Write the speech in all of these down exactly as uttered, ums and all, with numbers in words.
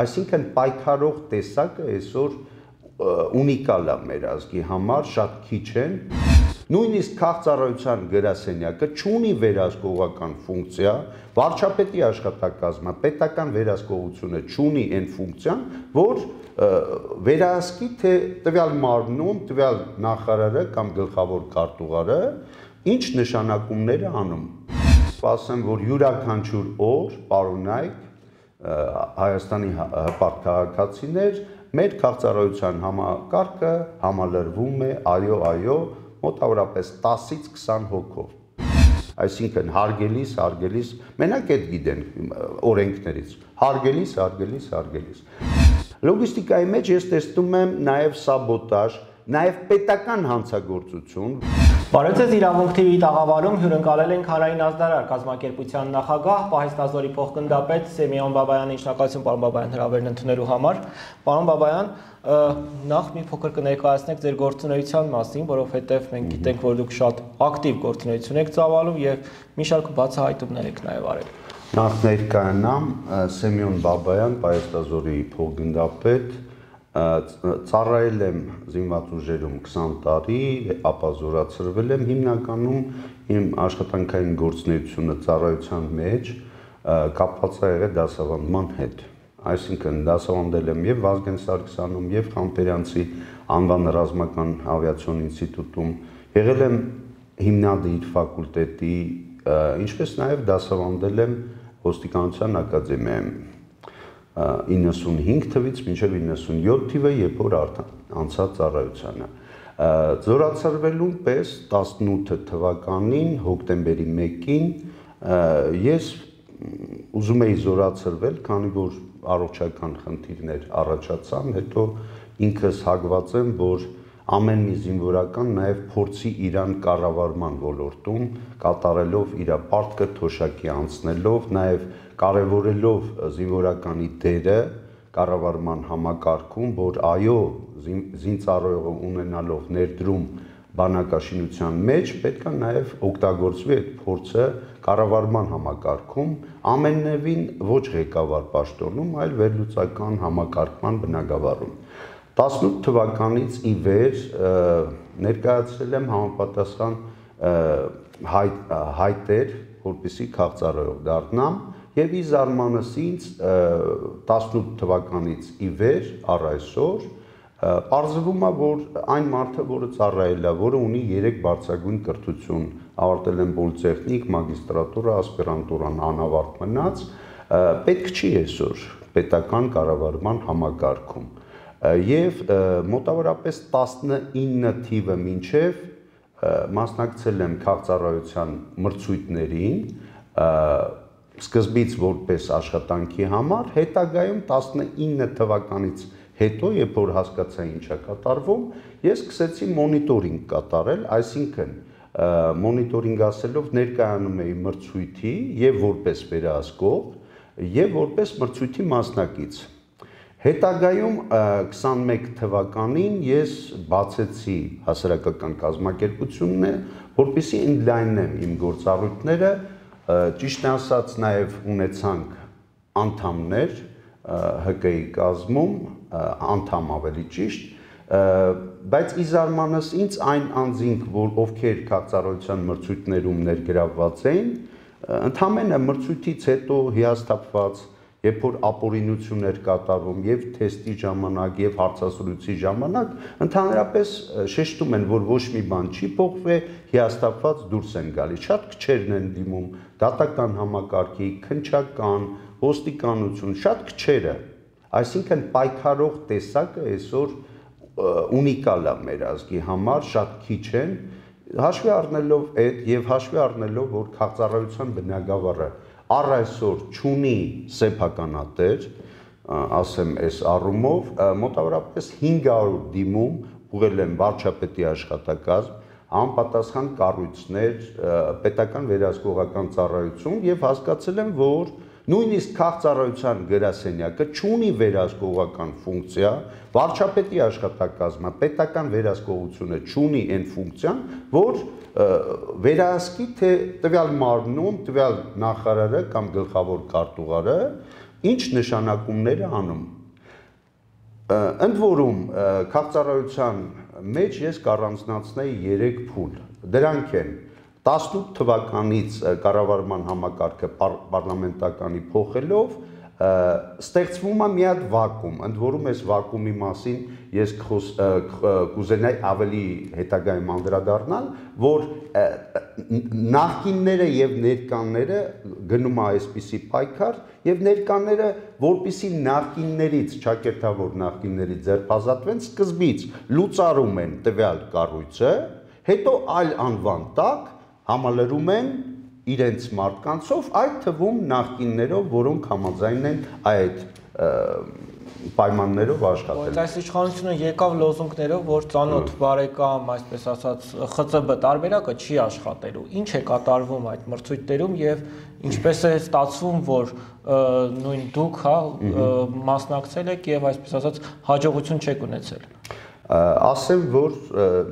Այսինքն պայքարող տեսակը այսօր ունիկալ է մեր ազգի համար, շատ քիչ են։ Նույնիսկ քաղաքծառայության գրասենյակը չունի վերահսկողական ֆունկցիա, վարչապետի աշխատակազմը, պետական վերահսկողությունը չունի այն ֆունկցիան, որ վերահսկի թե տվյալ մարմնում, տվյալ նախարարը կամ գլխավոր քարտուղարը ինչ նշանակումներ է անում։ Ասեմ, որ յուրաքանչյուր օր պարոնայք Հայաստանի հպարտ քաղաքացիներ մեր քաղաքծառայության համակարգը համալրվում է, այո, այո, մոտավորապես տասից քսան հոգով։ Այսինքն հարգելիս, հարգելիս, մենակ այդ գիտեն օրենքներից, հարգելիս, հարգելիս, հարգելիս։ Լոգիստիկայի մեջ ես տեսնում եմ նաև սաբոտաժ, նաև պետական հանցագործություն։ Բարև ձեզ, Իրավունք Թի վի տաղավարում հյուրընկալել ենք Հանրային ազդարար կազմակերպության նախագահ, Պահեստազորի փոխգնդապետ Սեմիոն Բաբայանի, շնորհակալություն պարոն Բաբայան հրավերն ընդունելու համար։ Պարոն Բաբայան, նախ մի փոքր կներկայացնեք ձեր գործունեության մասին, որովհետև մենք գիտենք, որ դուք շատ ակտիվ գործունեություն եք ծավալում եւ մի շարք բացահայտումներ եք նաև արել։ Նախ ներկայանամ Սեմիոն Բաբայան, Պահեստազորի փոխգնդապետ, ծառայել եմ զինված ուժերում քսան տարի, ապա զորացրվել եմ, հիմնականում իմ աշխատանքային գործունեությունը ծառայության մեջ կապված է եղել դասավանդման հետ։ Այսինքն դասավանդել եմ եւ Վազգեն Սարգսյանում, եւ Խամբերյանցի անվան ռազմական ավիացիոն ինստիտուտում, եղել եմ հիմնադիր ֆակուլտետի, ինչպես նաեւ դասավանդել եմ Ոստիկանության ակադեմիայում իննսունհինգ թվից մինչև իննսունյոթ թիվը, երբ որ անցած ծառայությանը։ Զորացրվելուն պես տասնութ թվականին հոկտեմբերի մեկին ես ուզում էի զորացրվել, քանի որ առողջական խնդիրներ առաջացան, հետո ինքս հագված եմ, որ ամեն մի զինվորական նաև փորձի իրան կառավարման ոլորտում, կատարելով իր պարտքը թոշակի անցնելով, նաև կարևորելով զինվորականի դերը կառավարման համակարգում, որ այո, զինծառայողը ունենալով ներդրում բանակաշինության մեջ պետք է նաև օգտագործվի այդ փորձը կառավարման համակարգում, ամենևին ոչ ղեկավար պաշտոնում, այլ վերլուծական համակարգման բնագավառում։ տասնութ թվականից ի վեր ներկայացրել եմ համապատասխան հայտեր, որպեսզի քաղաքծառայող դառնամ, եւ ի զարմանս ինձ տասնութ թվականից ի վեր առ այսօր պարզվում է, որ այն մարդը, որը ծառայել է, որը ունի երեք բարձրագույն կրթություն, ավարտել եմ պոլիտեխնիկ, մագիստրատուրա, ասպիրանտուրան անավարտ մնաց, պետք չի այսօր պետական կառավարման համակարգում։ Եվ մոտավորապես տասնինը թիվը մինչև մասնակցել եմ քաղաքծառայության մրցույթներին, սկզբից որպես աշխատանքի համար, հետագայում տասնինը թվականից հետո, երբ որ հասկացա ինչ է կատարվում, ես սկսեցի մոնիտորինգ կատարել, այսինքն մոնիտորինգ ասելով ներկայանում էի մրցույթի եւ որպես վերահսկող, եւ որպես մրցույթի մասնակից։ Հետագայում քսանմեկ թվականին ես բացեցի հասարակական կազմակերպությունն, որպեսզի ընդլայնեմ իմ գործառույթները, ճիշտ ասած նաև ունեցանք անդամներ Հ Կ ի կազմում, անդամ ավելի ճիշտ, բայց ի զարմանս ինձ այն անձինք, որ ովքեր քաղաքծառայության մրցույթներում ներգրավված էին, ընդամենը մրցույթից հետո հիասթափված, երբ որ ապօրինություն էր կատարվում եւ թեստի ժամանակ եւ հարցազրույցի ժամանակ, ընդհանրապես շեշտում են, որ ոչ մի բան չի փոխվի, հիասթափված դուրս են գալիս։ Շատ քչերն են դիմում, դատական համակարգի, քննչական, ոստիկանություն, շատ քչերը։ Այսինքն պայքարող տեսակը այսօր ունիկալ է մեր ազգի համար, շատ քիչ են, հաշվի առնելով այդ եւ հաշվի առնելով, որ քաղաքծառայության բնագավառը առ այսօր չունի սեփականատեր, ասեմ այս առումով, մոտավորապես հինգ հարյուր դիմում ուղղել եմ վարչապետի աշխատակազմ, անպատասխան կառույցներ, պետական վերահսկողական ծառայություն եւ հասկացել եմ, որ նույնիսկ քաղաքծառայության գրասենյակը չունի վերահսկողական ֆունկցիա, վարչապետի աշխատակազմը, պետական վերահսկողությունը չունի այն ֆունկցիան, որ վերահսկի թե տվյալ մարմնում, տվյալ նախարարը կամ գլխավոր քարտուղարը ինչ նշանակումներ է անում։ Ընդ որում քաղաքծառայության մեջ ես կառանձնացնեի երեք փուլ։ Դրանք են տասնութ թվականից կառավարման համակարգը պարլամենտականի փոխելով ստեղծվում է մի հատ վակուում, ընդ որում այս վակուումի մասին ես կուզենայի ավելի հետագայում անդրադառնալ, որ նախկինները եւ ներկաները գնում է այսպիսի պայքար եւ ներկաները որպիսի նախկիններից, ճակերտավոր նախկիններից ձերբազատվեն, սկզբից լուծարում են տվյալ կառույցը, հետո այլ անվան տակ համալրում են իրենց մարդկանցով, այդ թվում նախկիններով, որոնք համաձայն են այդ պայմաններով աշխատել։ Այս իշխանությունը եկավ լոզունգներով, որ ծանոթ բարեկամ, այսպես ասած, Խ Ծ B տարբերակը չի աշխատելու։ Ինչ է կատարվում այդ մրցույթներում եւ ինչպես է ստացվում, որ նույն դուք, հա, մասնակցել եք եւ այսպես ասած հաջողություն չեք ունեցել։ Ասեմ, որ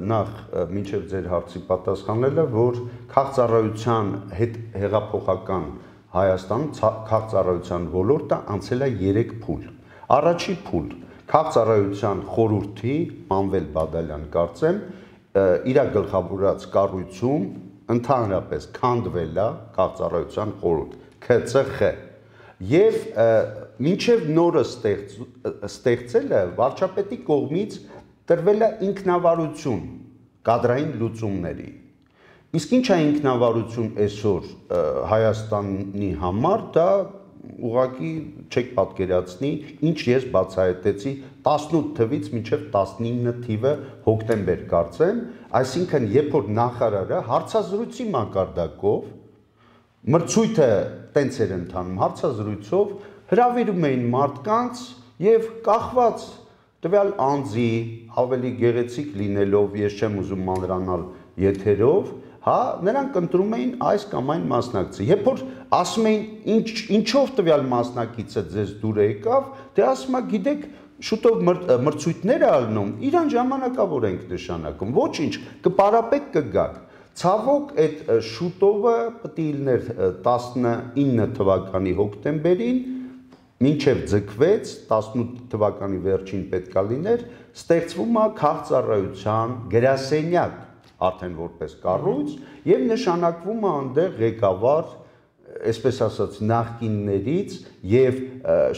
նախ մինչև ձեր հարցի պատասխանելը, որ քաղաքծառայության հետ հեղափոխական Հայաստանում քաղաքծառայության ոլորտը անցել է երեք փուլ։ Առաջի փուլ քաղաքծառայության խորհրդի Մանվել Բադալյան կարծեմ իր գլխավորած կառույցում ընդհանրապես քանդվել է քաղաքծառայության խորհուրդ K C X եւ մինչև նորը ստեղծելը վարչապետի կողմից տրվել է ինքնավարություն կադրային լուծումների։ Իսկ ինչ է ինքնավարություն այսօր Հայաստանի համար, դա ուղղակի չեք պատկերացնի, ինչ ես բացահայտեցի տասնութ թվից մինչև տասնինը թիվը հոկտեմբեր կարծեմ, այսինքն երբ որ նախարարը հարցազրույցի մակարդակով մրցույթը տենց էր ընթանում, հարցազրույցով հրավիրում էին մարդկանց եւ կախված տվյալ անձի ավելի գեղեցիկ լինելով, ես չեմ ուզում մանրանալ եթերով, հա, նրանք ընտրում էին այս կամ այն մասնակցի։ Երբ որ ասում էին ինչ ինչով տվյալ մասնակիցը ձեզ դուր եկավ, դե ասում է, գիտեք, շուտով մրցույթներ է ալնում, իրան ժամանակավոր ենք նշանակում, ոչինչ, կպարապեք կգաք։ Ցավոք այդ շուտովը պետք է լիներ տասնինը թվականի հոկտեմբերին, մինչև ձգվեց, տասնութ թվականի վերջին պետքա լիներ, ստեղծվում է քաղաքծառայության գրասենյակ, արդեն որպես կառույց, եւ նշանակվում է այնտեղ ղեկավար, այսպես ասած, նախկիններից եւ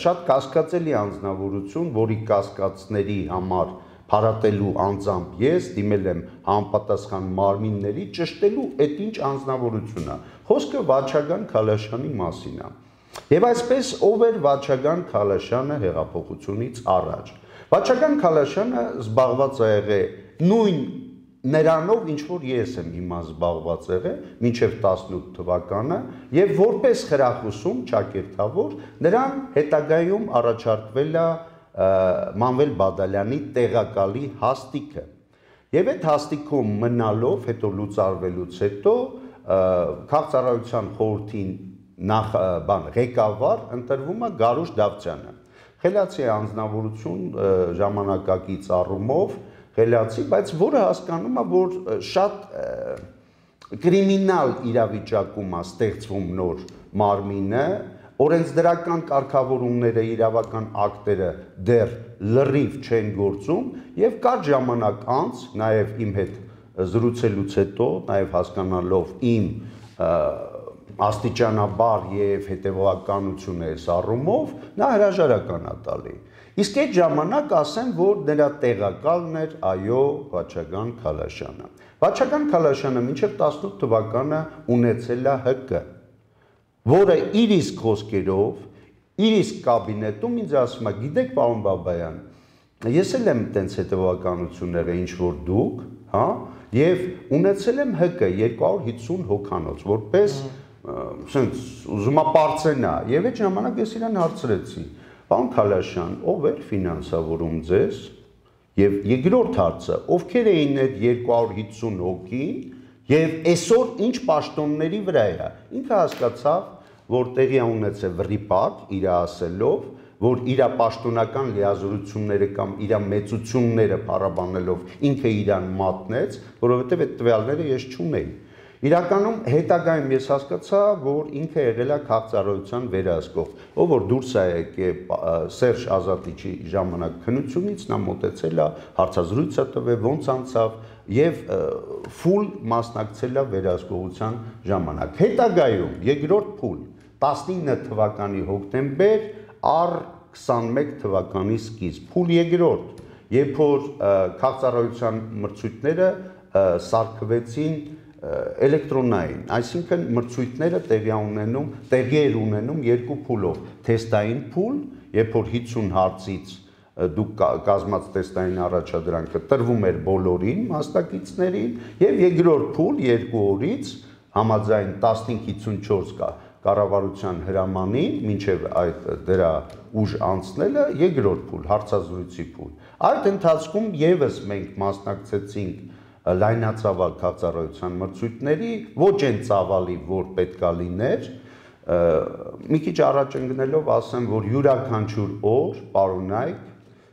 շատ կասկածելի անձնավորություն, որի կասկածների համար փարատելու անձամբ ես դիմել եմ համապատասխան մարմինների ճշտելու այդ ինչ անձնավորություն է։ Խոսքը Վաչագան Քալաշյանի մասին է։ Եվ այսպես ով էր Վաչագան Քալաշյանը հեղափոխությունից առաջ։ Վաչագան Քալաշյանը զբաղված է եղել նույն նրանով, ինչ որ ես եմ հիմա զբաղված եղել, մինչև տասնութ թվականը, եւ որպես խրախուսում ճակերտավոր նրան հետագայում առաջարկվել է Մանվել Բադալյանի տեղակալի հաստիքը։ Եվ այդ հաստիքում մնալով, հետո լուծարվելուց հետո քաղաքծառայության խորհրդի նախ բան ղեկավար ընտրվում է Գարուշ Դավթյանը։ Խելացի անձնավորություն ժամանակակից առումով, խելացի, բայց որը հասկանում է, որ շատ կրիմինալ իրավիճակում է ստեղծվում նոր մարմինը, օրենսդրական կարգավորումները, իրավական ակտերը դեռ լրիվ չեն գործում եւ կար ժամանակ անց, նաեւ իմ հետ զրուցելուց հետո, նաեւ հասկանալով իմ աստիճանաբար եւ հետեւողականությունը այս առումով, նա հրաժարական է տալի։ Իսկ այդ ժամանակ ասեմ, որ նրա տեղակալն էր այո Վաչագան Քալաշյանը։ Վաչագան Քալաշյանը մինչև տասնութ թվականը ունեցել է Հ Կ, որը իր իսկ խոսքերով, իր իսկ կաբինետում ինձ ասում է, գիտեք, պարոն Բաբայան, ես էլ եմ տենց հետևականությունները, ինչ որ դուք, հա, եւ ունեցել եմ Հ Կ երկու հարյուր հիսուն հոգանոց, որպես սենց ուզում է պարծենա, եւ այդ ժամանակ ես իրան հարցրեցի, պարոն Քալաշյան, ով էր ֆինանսավորում ձեզ, եւ երկրորդ հարցը, ովքեր էին այդ երկու հարյուր հիսուն հոգին, եւ այսօր ինչ պաշտոնների վրա է։ Ինքը հասկացավ, որ տեղի է ունեցել վրիպակ իր ասելով, որ իր պաշտոնական լիազորությունները կամ իր մեծությունները փառաբանելով ինքը իրան մատնեց, որովհետեւ այդ տվյալները ես չունեի։ Իրականում հետագայում ես հասկացա, որ ինքը եղել է քաղաքծառայության վերահսկող, ով որ դուրս է եկել Սերժ Ազատիչի ժամանակ քննությունից, նա մոտեցել է, հարցազրույց է տվել, ոնց անցավ եւ ֆուլ մասնակցել է վերահսկողության ժամանակ։ Հետագայում երկրորդ փուլ տասնինը թվականի հոկտեմբեր առ քսանմեկ թվականի սկիզբ, փուլ երկրորդ, երբ որ քաղաքծառայության մրցույթները սարքվեցին էլեկտրոնային, այսինքն մրցույթները տեղի ունենում, տեղի էր ունենում երկու փուլով, թեստային փուլ, երբ որ հիսուն հարցից դուք կազմած թեստային առաջադրանքը տրվում էր բոլորին մասնակիցներին եւ երկրորդ փուլ երկու օրից համաձայն տասնհինգ հիսունչորս կա կառավարության հրամանին մինչև այդ դրա ուժ անցնելը երկրորդ փուլ հարցազրույցի փուլ այդ ընթացքում եւս մենք մասնակցեցինք լայնածավալ քաղաքծառայության մրցույթների ոչ այն ծավալի որ պետքա լիներ մի քիչ առաջ ընկնելով ասեմ որ յուրաքանչյուր օր պարոնայք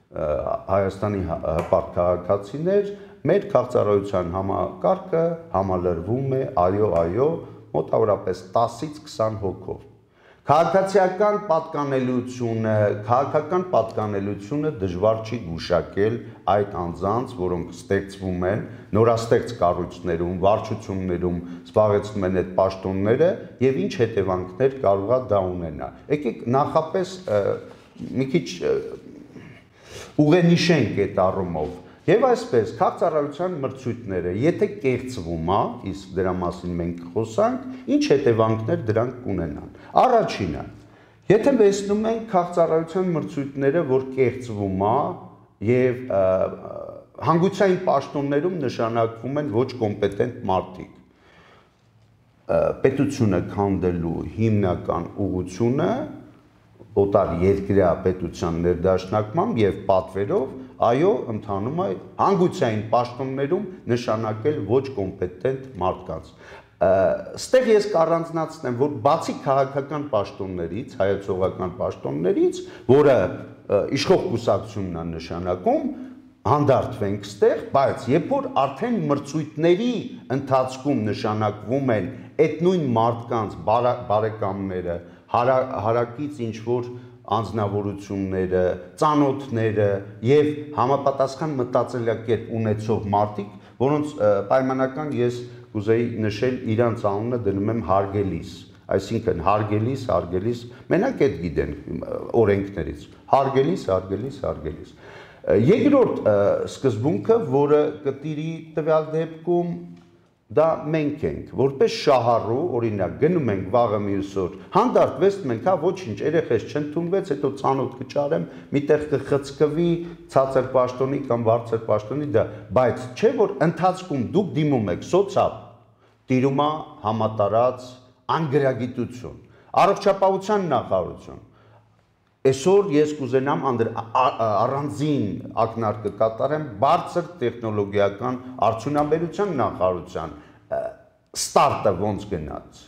Հայաստանի հպարտ քաղաքացիներ մեր քաղաքծառայության համակարգը համալրվում է այո այո մոտավորապես տասից քսան հոգով քաղաքացիական պատկանելությունը քաղաքական պատկանելությունը դժվար չի գուշակել այդ անձանց որոնք ստեղծվում են նորաստեղծ կառույցներում վարչություններում զբաղեցնում են այդ պաշտոնները եւ ինչ հետևանքներ կարող է դա ունենա եկեք նախապես մի քիչ ուղենիշենք այդ առումով եւ այսպես քաղաքծառայության մրցույթները եթե կեղծվում է իսկ դրա մասին մենք խոսանք ինչ հետևանքներ դրանք կունենան առաջինը եթե վերցնում ենք քաղաքծառայության մրցույթները որ կեղծվում է եւ հանգուցային պաշտոններում նշանակվում են ոչ կոմպետենտ մարդիկ պետությունը քանդելու հիմնական ուղղությունը օտար երկրյա պետության ներդաշնակմամբ եւ պատվերով այո ընթանում է հանգուցային պաշտոններում նշանակել ոչ կոմպետենտ մարդկանց ստեղ ես կառանձնացնեմ որ բացի քաղաքական պաշտոններից հայացողական պաշտոններից որը իշխող կուսակցությունն է նշանակում հանդարտվենք ստեղ բայց երբ որ արդեն մրցույթների ընթացքում նշանակվում են այդ նույն մարդկանց բարեկամները հարակից ինչ որ անձնավորությունները, ծանոթները եւ համապատասխան մտածելակերպ ունեցող մարդիկ, որոնց պայմանական ես կուզեի նշել իրանց անունը դնում եմ հարգելիս, այսինքն հարգելիս, հարգելիս, մենակ այդ գիտեն օրենքներից, հարգելիս, հարգելիս, հարգելիս։ Երկրորդ սկզբունքը, որը կտիրի տվյալ դեպքում դա մենք ենք, որպես շահառու, օրինակ, գնում ենք վաղը մյուս օր, հանդարտվեցնում ենք, հա ոչինչ, երեխես չընդունվեց, հետո ծանոթ կճարեմ, միտեղ կխցկվի, ցածր պաշտոնի կամ բարձր պաշտոնի դա, բայց չէ որ ընթացքում դուք դիմում եք սոցիալ, տիրում է համատարած անգրագիտություն, առողջապահության նախարարություն, այսօր ես կուզենամ առանձին ակնարկը կատարեմ բարձր տեխնոլոգիական արդյունաբերության նախարարության ստարտը ոնց գնաց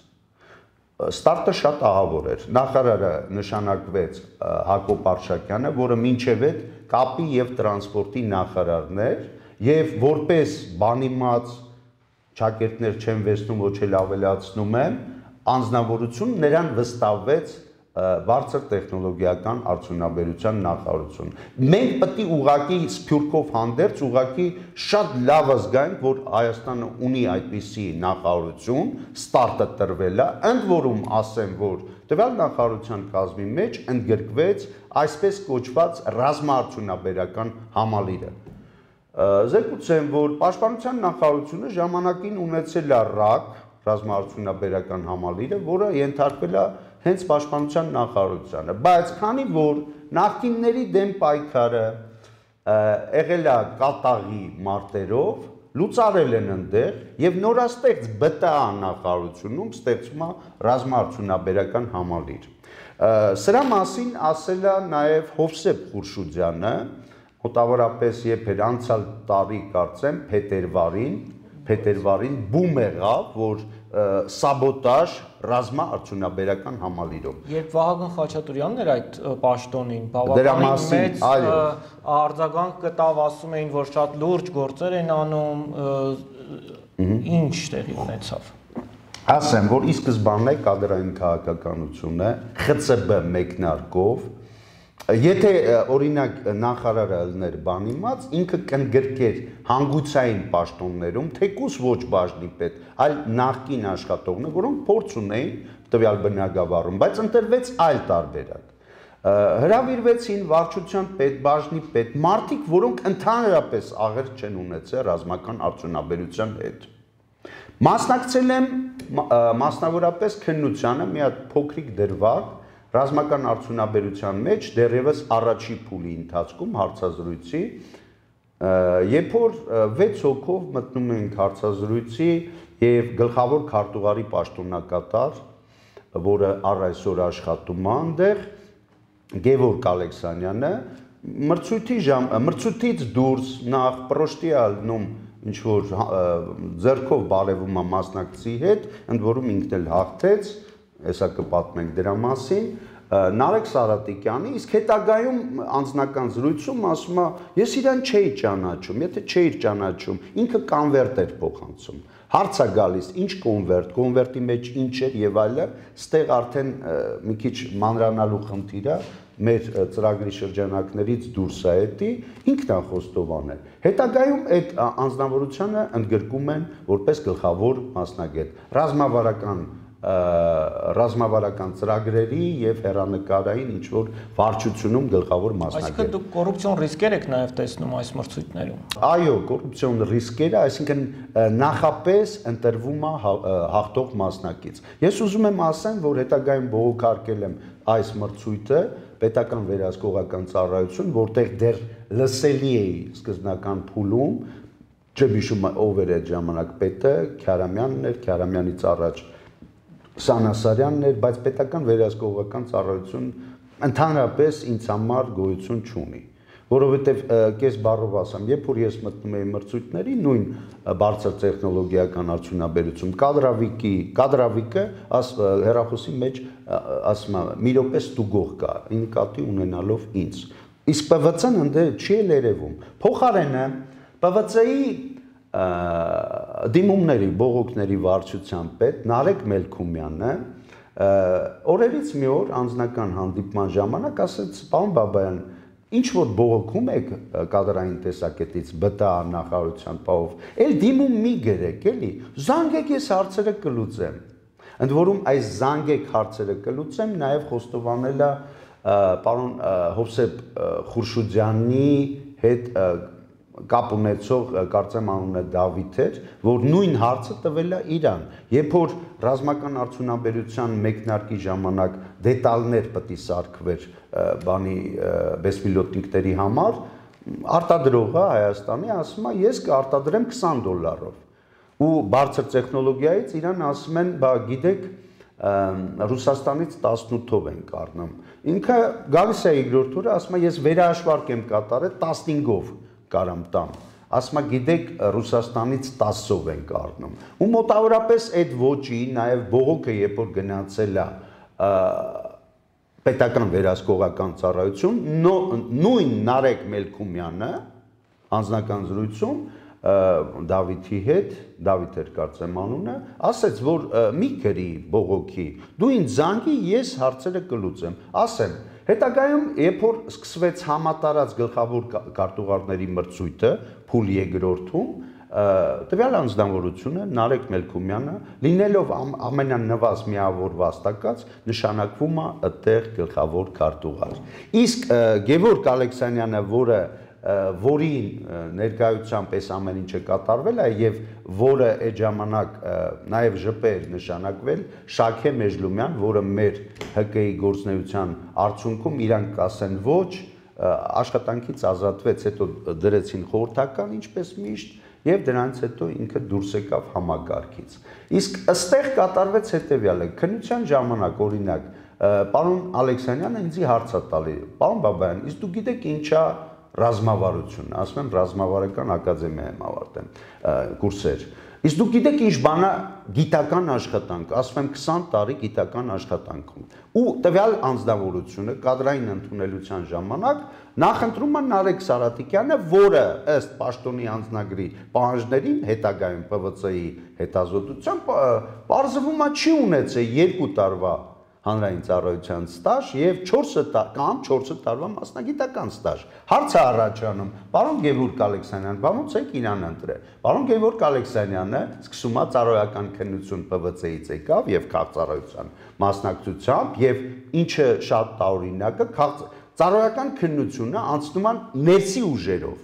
ստարտը շատ ահավոր էր նախարարը նշանակվեց Հակոբ Արշակյանը որը մինչև այդ կապի եւ տրանսպորտի նախարարն էր եւ որպես բանիմաց ճակերտներ չեմ վեցնում ոչ էլ ավելացնում եմ անձնավորություն նրան վստահվեց բարձր տեխնոլոգիական արդյունաբերության նախարարություն։ Մենք պետք է ուղղակի սփյուռքով հանդերձ ուղղակի շատ լավ զգանք, որ Հայաստանը ունի այդպիսի նախարարություն, ստարտը տրվել է, ընդ որում ասեմ, որ տվյալ նախարարության կազմի մեջ ընդգրկվեց այսպես կոչված ռազմաարդյունաբերական համալիրը։ Զեկուցեմ, որ Պաշտպանության նախարարությունը ժամանակին ունեցել է ՌԱԿ, ռազմաարդյունաբերական համալիրը, որը ենթարկվել է հենց Պաշտպանության նախարարությանը, բայց քանի որ նախկինների դեմ պայքարը եղել է կատաղի մարտերով, լուծարել են ընդեղ եւ նորաստեղծ B T A նախարարությունում ստեղծվում է ռազմաարդյունաբերական համալիր։ Սրա մասին ասել է նաեւ Հովսեփ Խուրշուդյանը, մոտավորապես երբ էր անցյալ տարի կարծեմ փետրվարին, փետրվարին բում եղավ, որ սաբոտաժ ռազմաարդյունաբերական համալիրում։ Երբ Վահագն Խաչատուրյանն էր այդ պաշտոնին, բավականին մեծ արձագանք կտավ, ասում էին, որ շատ լուրջ գործեր են անում, ինչ տեղի ունեցավ։ ասեմ, որ ի սկզբանե կադրային քաղաքականությունը Խ Ց B մեկնարկով, եթե օրինակ նախարարը ելներ բանիմաց, ինքը կընդգրկեր հանգուցային պաշտոններում, թեկուզ ոչ բաժնի պետ, այլ նախկին աշխատողներ, որոնք փորձ ունեին տվյալ բնագավառում, բայց ընտրվեց այլ տարբերակ։ Հրավիրվեցին վարչության պետ, բաժնի պետ, մարդիկ, որոնք ընդհանրապես աղերս չեն ունեցել ռազմական արդյունաբերության հետ։ Մասնակցել եմ մասնավորապես քննությանը մի հատ փոքրիկ դրվագ ռազմական արդյունաբերության մեջ դեռևս առաջի փուլի ընթացքում հարցազրույցի, երբ որ վեց հոգով մտնում ենք հարցազրույցի եւ գլխավոր քարտուղարի պաշտոնակատար, որը առ այսօր աշխատում է այնտեղ, Գևորգ Ալեքսանյանը մրցույթի ժամ մրցույթից դուրս նախ պրոշտի ալնում ինչ որ ձեռքով բարևում է մասնակցի հետ, ընդ որում ինքն էլ հաղթեց, հեսա կպատմենք դրա մասին, Նարեկ Սարատիկյանի, իսկ հետագայում անձնական զրույցում ասում է, ես իրան չէի ճանաչում, եթե չէի ճանաչում, ինքը կոնվերտ էր փոխանցում։ Հարց է գալիս, ինչ կոնվերտ, կոնվերտի մեջ ինչ էր եւ այլը, ստեղ արդեն մի քիչ մանրանալու խնդիր է, մեր ծրագրի շրջանակներից դուրս է էտի, ինքն է խոստովանել։ Հետագայում այդ անձնավորությունը ընդգրկում են որպես գլխավոր մասնագետ, ռազմավարական ռազմավարական ծրագրերի եւ հերանեկարային ինչ որ վարչությունում գլխավոր մասնագետ։ Այսինքն դուք կոռուպցիոն ռիսկեր եք նաեւ տեսնում այս մրցույթներում։ Այո, կոռուպցիոն ռիսկերը, այսինքն նախապես ընտրվում է հաղթող մասնակից։ Ես ուզում եմ ասեմ, որ հետագայում բողոքարկել եմ այս մրցույթը պետական վերահսկողական ծառայություն, որտեղ դեռ լսելի էի սկզբնական փուլում, չհիշում ով էր այդ ժամանակ պետը, Քյարամյանն էր, Քյարամյանից առաջ Սանասարյանն էր, բայց պետական վերահսկողական ծառայություն ընդհանրապես ինձ համար գոյություն չունի, որովհետև կես բառով ասեմ, երբ որ ես մտնում եի մրցույթների, նույն բարձր տեխնոլոգիական արդյունաբերություն, կադրավիկի, կադրավիկը հեռախոսի մեջ ասում է, մի րոպե ստուգող կա, նկատի ունենալով ինձ։ Իսկ Պ V C-ն ընդ չի էլ երևում։ Փոխարենը Պ V C-ի դիմումների, բողոքների վարչության պետ Նարեկ Մելքումյանը օրերից մի օր անձնական հանդիպման ժամանակ ասեց, պարոն Բաբայան, ինչ որ բողոքում եք կադրային տեսակետից Բ Տ A նախարարության պահով, էլ դիմում մի գրեք, էլի, զանգեք ես հարցերը կլուծեմ։ Ընդ որում այս զանգեք հարցերը կլուծեմ նաև խոստովանել է պարոն Հովսեփ Խուրշուդյանի հետ կապ ունեցող կարծեմ անունը Դավիթ էր, որ նույն հարցը տվել է իրան, երբ որ ռազմական արդյունաբերության մեկնարկի ժամանակ դետալներ պետք է սարքվեր բանի բեսպիլոտնիկների համար, արտադրողը Հայաստանի ասում է, ես կարտադրեմ քսան դոլարով։ Ու բարձր տեխնոլոգիայից իրան ասում են, բա գիտեք, Ռուսաստանից տասնութով ենք առնում։ Ինքը գալիս է երկրորդ օրը, ասում է, ես վերահաշվարկ եմ կատարել տասնհինգով կարամ տամ, ասում է, գիտեք, Ռուսաստանից տասով ենք առնում։ Ու մոտավորապես այդ ոճի, նաև բողոքը, երբ որ գնացել է պետական վերահսկողական ծառայություն, նույն Նարեկ Մելքումյանը անձնական զրույցում Դավիթի հետ, Դավիթ էր կարծեմ անունը, ասեց, որ մի գրի բողոքի, դու ինձ զանգի, ես հարցերը կլուծեմ, ասեմ, հետագայում, երբ որ սկսվեց համատարած գլխավոր քարտուղարների մրցույթը, փուլ երկրորդում, տվյալ անձնավորությունը Նարեկ Մելքումյանը, լինելով ամենանվազ միավոր վաստակած, նշանակվում է այդտեղ գլխավոր քարտուղար։ Իսկ Գևորգ Ալեքսանյանը, որը որի ներկայությամբ այս ամեն ինչը կատարվել է եւ որը այդ ժամանակ նաեւ ԺՊ-էր նշանակվել Շաքե Մեժլումյան, որը մեր Հ Կ-ի գործնեության արդյունքում իրան կասեն ոչ, աշխատանքից ազատվեց, հետո դրեցին խորհրդական, ինչպես միշտ, եւ դրանից հետո ինքը դուրս եկավ համագարկից։ Իսկ ըստեղ կատարվեց հետեւյալը, քննության ժամանակ օրինակ պարոն Ալեքսանյանը ինձ հարց է տալի, պարոն Բաբայան, իսկ դու գիտեք ինչա ռազմավարություն, ասում եմ ռազմավարական ակադեմիա եմ ավարտել կուրսեր։ Իսկ դուք գիտեք ինչ բան է գիտական աշխատանք, ասում եմ քսան տարի գիտական աշխատանքում։ Ու տվյալ անձնավորությունը կադրային ընդունելության ժամանակ նախընտրում է Նարեկ Սարատիկյանը, որը ըստ պաշտոնի անձնագրի պահանջներին հետագայում Պ V C-ի հետազոտությամբ պարզվում է չի ունեցել երկու տարվա հանրային ծառայության ստաժ եւ չորս կամ չորս տարվա մասնագիտական ստաժ։ Հարց է առաջանում, պարոն Գևորգ Ալեքսանյան, ո՞նց եք իրան ընտրել։ Պարոն Գևորգ Ալեքսանյանը սկսում է ծառայական քննություն Պ V C-ից եկավ եւ քաղաքծառայության մասնակցությամբ եւ ինչը շատ տարօրինակ է, ծառայական քննությունը անցնում է ներսի ուժերով,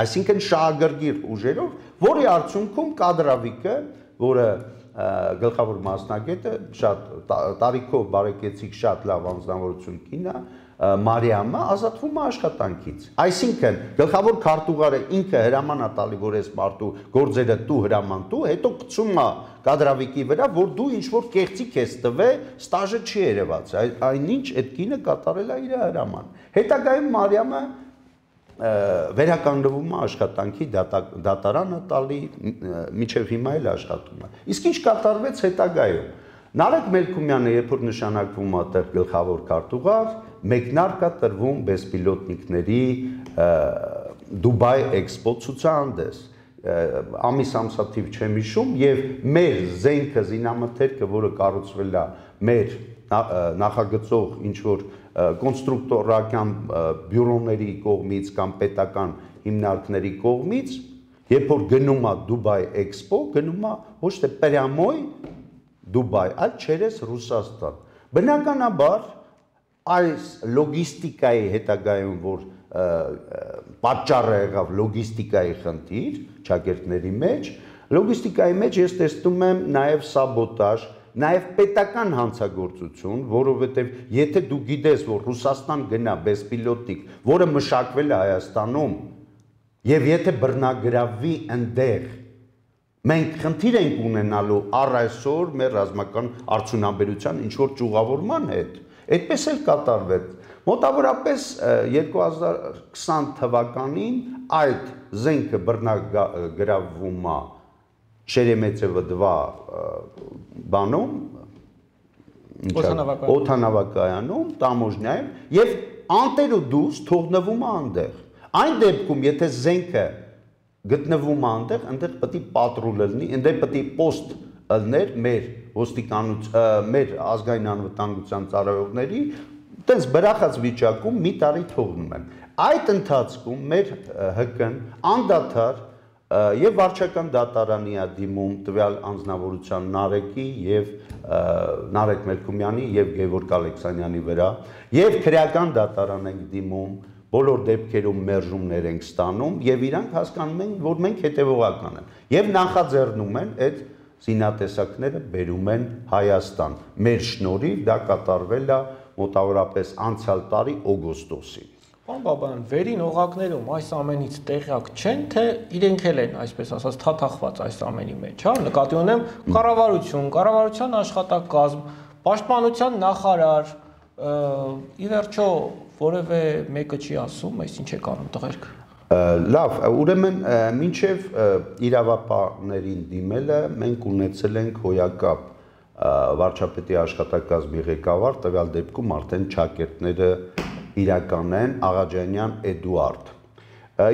այսինքն շահագրգիռ ուժերով, որի արդյունքում կադրավիկը, որը գլխավոր մասնագետը շատ տարիքով բարեկեցիկ շատ լավ անձնավորություն կին է, Մարիամը ազատվում է աշխատանքից։ Այսինքն գլխավոր քարտուղարը ինքը հրաման է տալի, որ այս մարդու գործերը տու հրաման տու, հետո գցում է կադրավիկի վրա, որ դու ինչ որ կեղծիք ես տվել, ստաժը չի երևացել, այնինչ այդ կինը կատարել է իր հրաման։ Հետագայում Մարիամը վերականգնվում է աշխատանքի դատարանը տալի, միջև հիմա էլ աշխատում է։ Իսկ ինչ կատարվեց հետագայում։ Նարեկ Մելքումյանը, երբ որ նշանակվում է այդտեղ գլխավոր քարտուղար, մեկնարկ է տրվում բեսպիլոտնիկների Դուբայ Էքսպո ցուցահանդես։ Ամիս ամսաթիվ չեմ հիշում եւ մեր զենքը զինամթերքը, որը կառուցվել է մեր նախագծող ինչ որ կոնստրուկտորական բյուրոների կողմից կամ պետական հիմնարկների կողմից, երբ որ գնում է Դուբայ Էքսպո, գնում է ոչ թե պրյամոյ Դուբայ, այլ չերես Ռուսաստան։ Բնականաբար այս լոգիստիկայի հետագայում, որ պատճառը եղավ լոգիստիկայի խնդիր ճակերտների մեջ, լոգիստիկայի մեջ ես տեսնում եմ նաև սաբոտաժ, նաև պետական հանցագործություն, որովհետև եթե դու գիտես, որ Ռուսաստան գնա բեսպիլոտնիկ, որը մշակվել է Հայաստանում, եւ եթե բռնագրավի ընդեղ, մենք խնդիր ենք ունենալու առ այսօր մեր ռազմական արդյունաբերության ինչ որ ճյուղավորման հետ, այդպես էլ կատարվեց։ Մոտավորապես երկու հազար քսան թվականին այդ զենքը բռնագրավվում է Շերեմեցևը dva բանում, օդանավակայանում, տամոժնյայում եւ անտեր ու դուրս թողնվում է այնտեղ։ Այն դեպքում, եթե զենքը գտնվում է այնտեղ, այնտեղ պետք է պատրուլ լինի, այնտեղ պետք է պոստ լիներ մեր ոստիկանության, մեր ազգային անվտանգության ծառայողների, տենց բրախած վիճակում մի տարի թողնում են։ Այդ ընթացքում մեր Հ Կ-ն անդադար եւ վարչական դատարանի է դիմում տվյալ անձնավորության Նարեկի եւ Նարեկ Մելքումյանի եւ Գևորգ Ալեքսանյանի վրա եւ քրեական դատարան ենք դիմում, բոլոր դեպքերում մերժումներ ենք ստանում եւ իրանք հասկանում են, որ մենք հետեւողական ենք եւ նախաձեռնում են այդ զինատեսակները բերում են Հայաստան։ Մեր շնորհիվ դա կատարվել է մոտավորապես անցյալ տարի օգոստոսին։ Պարոն Բաբայան, վերին օղակներում այս ամենից տեղյակ չեն, թե իրենք էլ են, այսպես ասած, թաթախված այս ամենի մեջ, հա, նկատի ունեմ կառավարություն, կառավարության աշխատակազմ, պաշտպանության նախարար, ի վերջո որևէ մեկը չի ասում, այս ինչ է անում տղերք։ Լավ, ուրեմն մինչև իրավապահներին դիմելը մենք ունեցել ենք հոյակապ վարչապետի աշխատակազմի ղեկավար, տվյալ դեպքում արդեն ճակերտները իրականեն Աղաջանյան Էդուարդ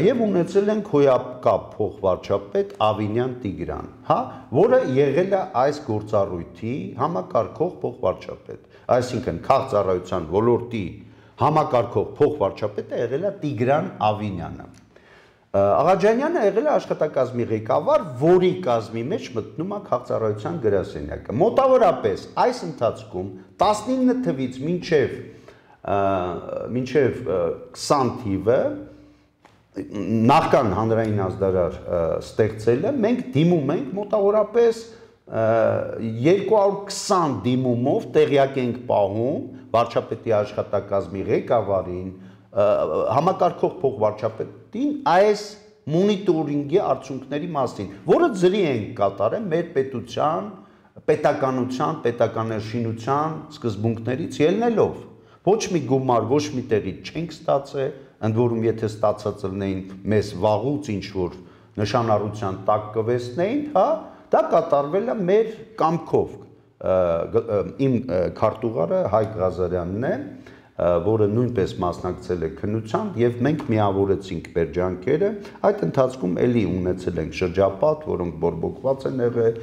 եւ ունեցել ենք հոյակապ փոխվարչապետ Ավինյան Տիգրան, հա, որը եղել է այս գործառույթի համակարգող փոխվարչապետ, այսինքն քաղաքծառայության ոլորտի համակարգող փոխվարչապետը եղել է Տիգրան Ավինյանը։ Աղաջանյանը եղել է աշխատակազմի ղեկավար, որի կազմի մեջ մտնում է քաղաքծառայության գրասենյակը։ Մոտավորապես այս ընթացքում տասնինը թվից մինչև մինչև քսան թիվը նախքան հանրային ազդարար ստեղծելը մենք դիմում ենք մոտավորապես երկու հարյուր քսան դիմումով տեղյակ ենք պահում վարչապետի աշխատակազմի ղեկավարին, համակարգող փոխվարչապետին այս մոնիտորինգի արդյունքների մասին, որը ձրի ենք կատարել մեր պետության, պետականության, պետականաշինության սկզբունքներից ելնելով։ Ոչ մի գումար, ոչ մի տեղից չենք ստացել, ընդ որում եթե ստացած լինեին մեզ վաղուց ինչ որ նշանառության տակ կվեցնեին, հա, դա կատարվել է մեր կամքով։ Իմ քարտուղարը Հայկ Ղազարյանն է, որը նույնպես մասնակցել է քննության, եւ մենք միավորեցինք մեր ջանքերը, այդ ընթացքում էլի ունեցել ենք շրջապատ, որոնք բորբոքված են եղել,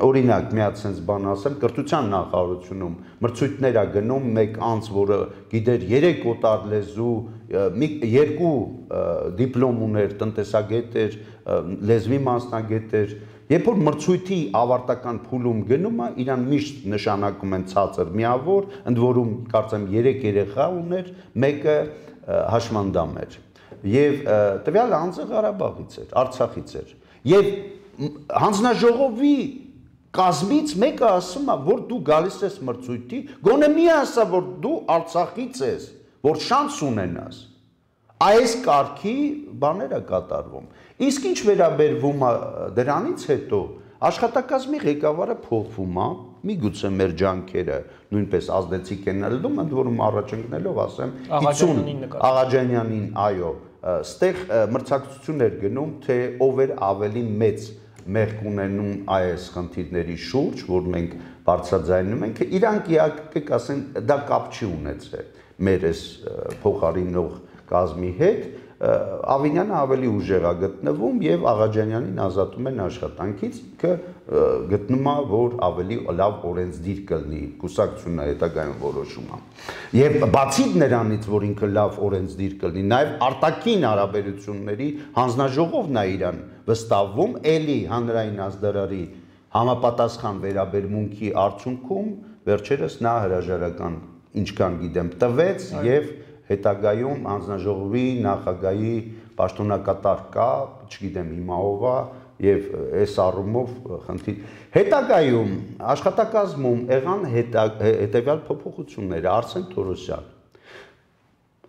օրինակ միած sense բան ասեմ, կրթության նախարարությունում մրցույթներ ա գնում մեկ անձ, որը գիտեր երեք օտար լեզու, երկու դիպլոմ ուներ, տնտեսագետ էր, լեզվի մասնագետ էր, երբ որ մրցույթի ավարտական փուլում գնում է, իրան միշտ նշանակում են ցածր միավոր, ընդ որում կարծեմ երեք երեխա ուներ, մեկը հաշմանդամ էր։ Եվ տվյալ անձը Ղարաբաղից էր, Արցախից էր։ Եվ հանձնաժողովի կազմից մեկը ասում է, որ դու գալիս ես մրցույթի, գոնե մի ասա, որ դու Արցախից ես, որ շանս ունենաս։ Այս կարգի բաներ է կատարվում։ Իսկ ինչ վերաբերվում է դրանից հետո աշխատակազմի ղեկավարը փոխվում է, միգուցե մեր ջանքերը նույնպես ազդեցիկ են ելնում, ընդ որում առաջ ընկնելով ասեմ Աղաջանյանին, այո, ստեղ մրցակցություն էր գնում, թե ով էր ավելի մեծ մեղք ունենում այս խնդիրների շուրջ, որ մենք բարձրաձայնում ենք, իրանք իհարկե կասեն դա կապ չի ունեցել մեր այս փոխարինող կազմի հետ, Ավինյանը ավելի ուժեղ է գտնվում եւ Աղաջանյանին ազատում են աշխատանքից, ինքը գտնում է, որ ավելի լավ օրենսդիր կլինի, կուսակցությունը հետագայում որոշում է։ Եվ բացի նրանից, որ ինքը լավ օրենսդիր կլինի, նաեւ արտաքին հարաբերությունների հանձնաժողովն է իրան վստահվում, էլի հանրային ազդարարի համապատասխան վերաբերմունքի արդյունքում վերջերս նա հրաժարական ինչքան գիտեմ տվեց եւ հետագայում հանձնաժողովի նախագահի պաշտոնակատար կա, չգիտեմ հիմա ով է, եւ այս առումով խնդիր։ Հետագայում աշխատակազմում եղան հետեւյալ փոփոխությունները, Արսեն Թորոսյան,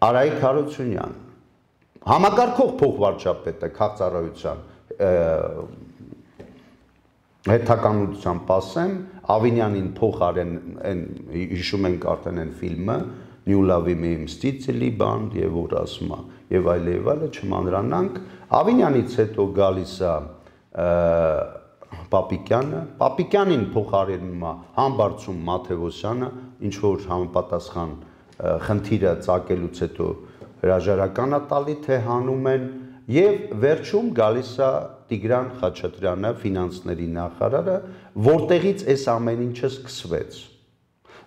Արայիկ Հարությունյան, համակարգող փոխվարչապետը քաղաքծառայության հետաքանության ասեմ, Ավինյանին փոխարեն են հիշում ենք արդեն այն ֆիլմը Не уловимые мстители բան եւ որ ասում է եւ այլ եւ այլը չմանրանանք Ավինյանից հետո գալիս է Պապիկյանը Պապիկյանին փոխարինում է Համբարձում Մաթեոսյանը ինչ որ համապատասխան խնդիրը ցակելուց հետո հրաժարական է տալի թե հանում են եւ վերջում գալիս է Տիգրան Խաչատրյանը ֆինանսների նախարարը որտեղից այս ամեն ինչը սկսվեց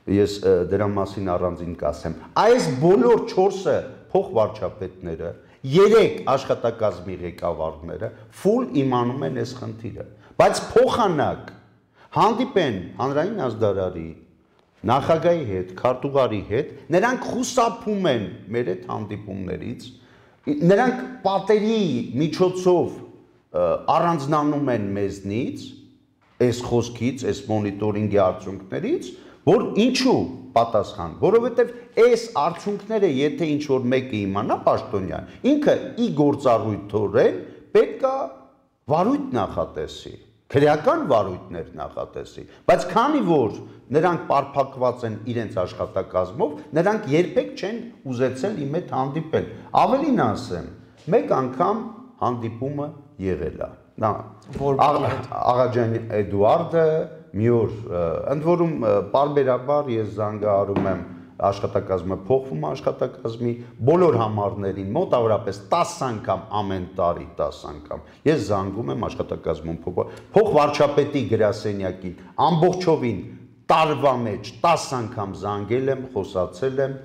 Ես դրա մասին առանձին կասեմ։ Այս բոլոր չորսը փոխվարչապետները, երեք աշխատակազմի ղեկավարները ֆուլ իմանում են այս խնդիրը։ Բայց փոխանակ հանդիպեն հանրային ազդարարի, նախագահի հետ, քարտուղարի հետ, նրանք խուսափում են մեր այդ հանդիպումներից, նրանք պատերի միջոցով առանձնանում են մեզնից, այս խոսքից, այս մոնիտորինգի արդյունքներից, որ ինչու պատասխան, որովհետև այս արդյունքները եթե ինչ որ մեկը իմանա պաշտոնյան, ինքը ի գործառույթորեն պետք է վարույթ նախատեսի, քրեական վարույթներ նախատեսի, բայց քանի որ նրանք պարփակված են իրենց աշխատակազմով, նրանք երբեք չեն ուզեցել իմ հետ հանդիպել։ Ավելին ասեմ, մեկ անգամ հանդիպումը եղել է։ Նա Աղաջան Էդուարդը մի օր ընդ որում պարբերաբար ես զանգահարում եմ աշխատակազմը փոխվում է աշխատակազմի բոլոր համարներին մոտավորապես տասը անգամ ամեն տարի տասը անգամ ես զանգում եմ աշխատակազմում փոխվարչապետի գրասենյակին ամբողջովին տարվա մեջ տասը անգամ զանգել եմ խոսացել եմ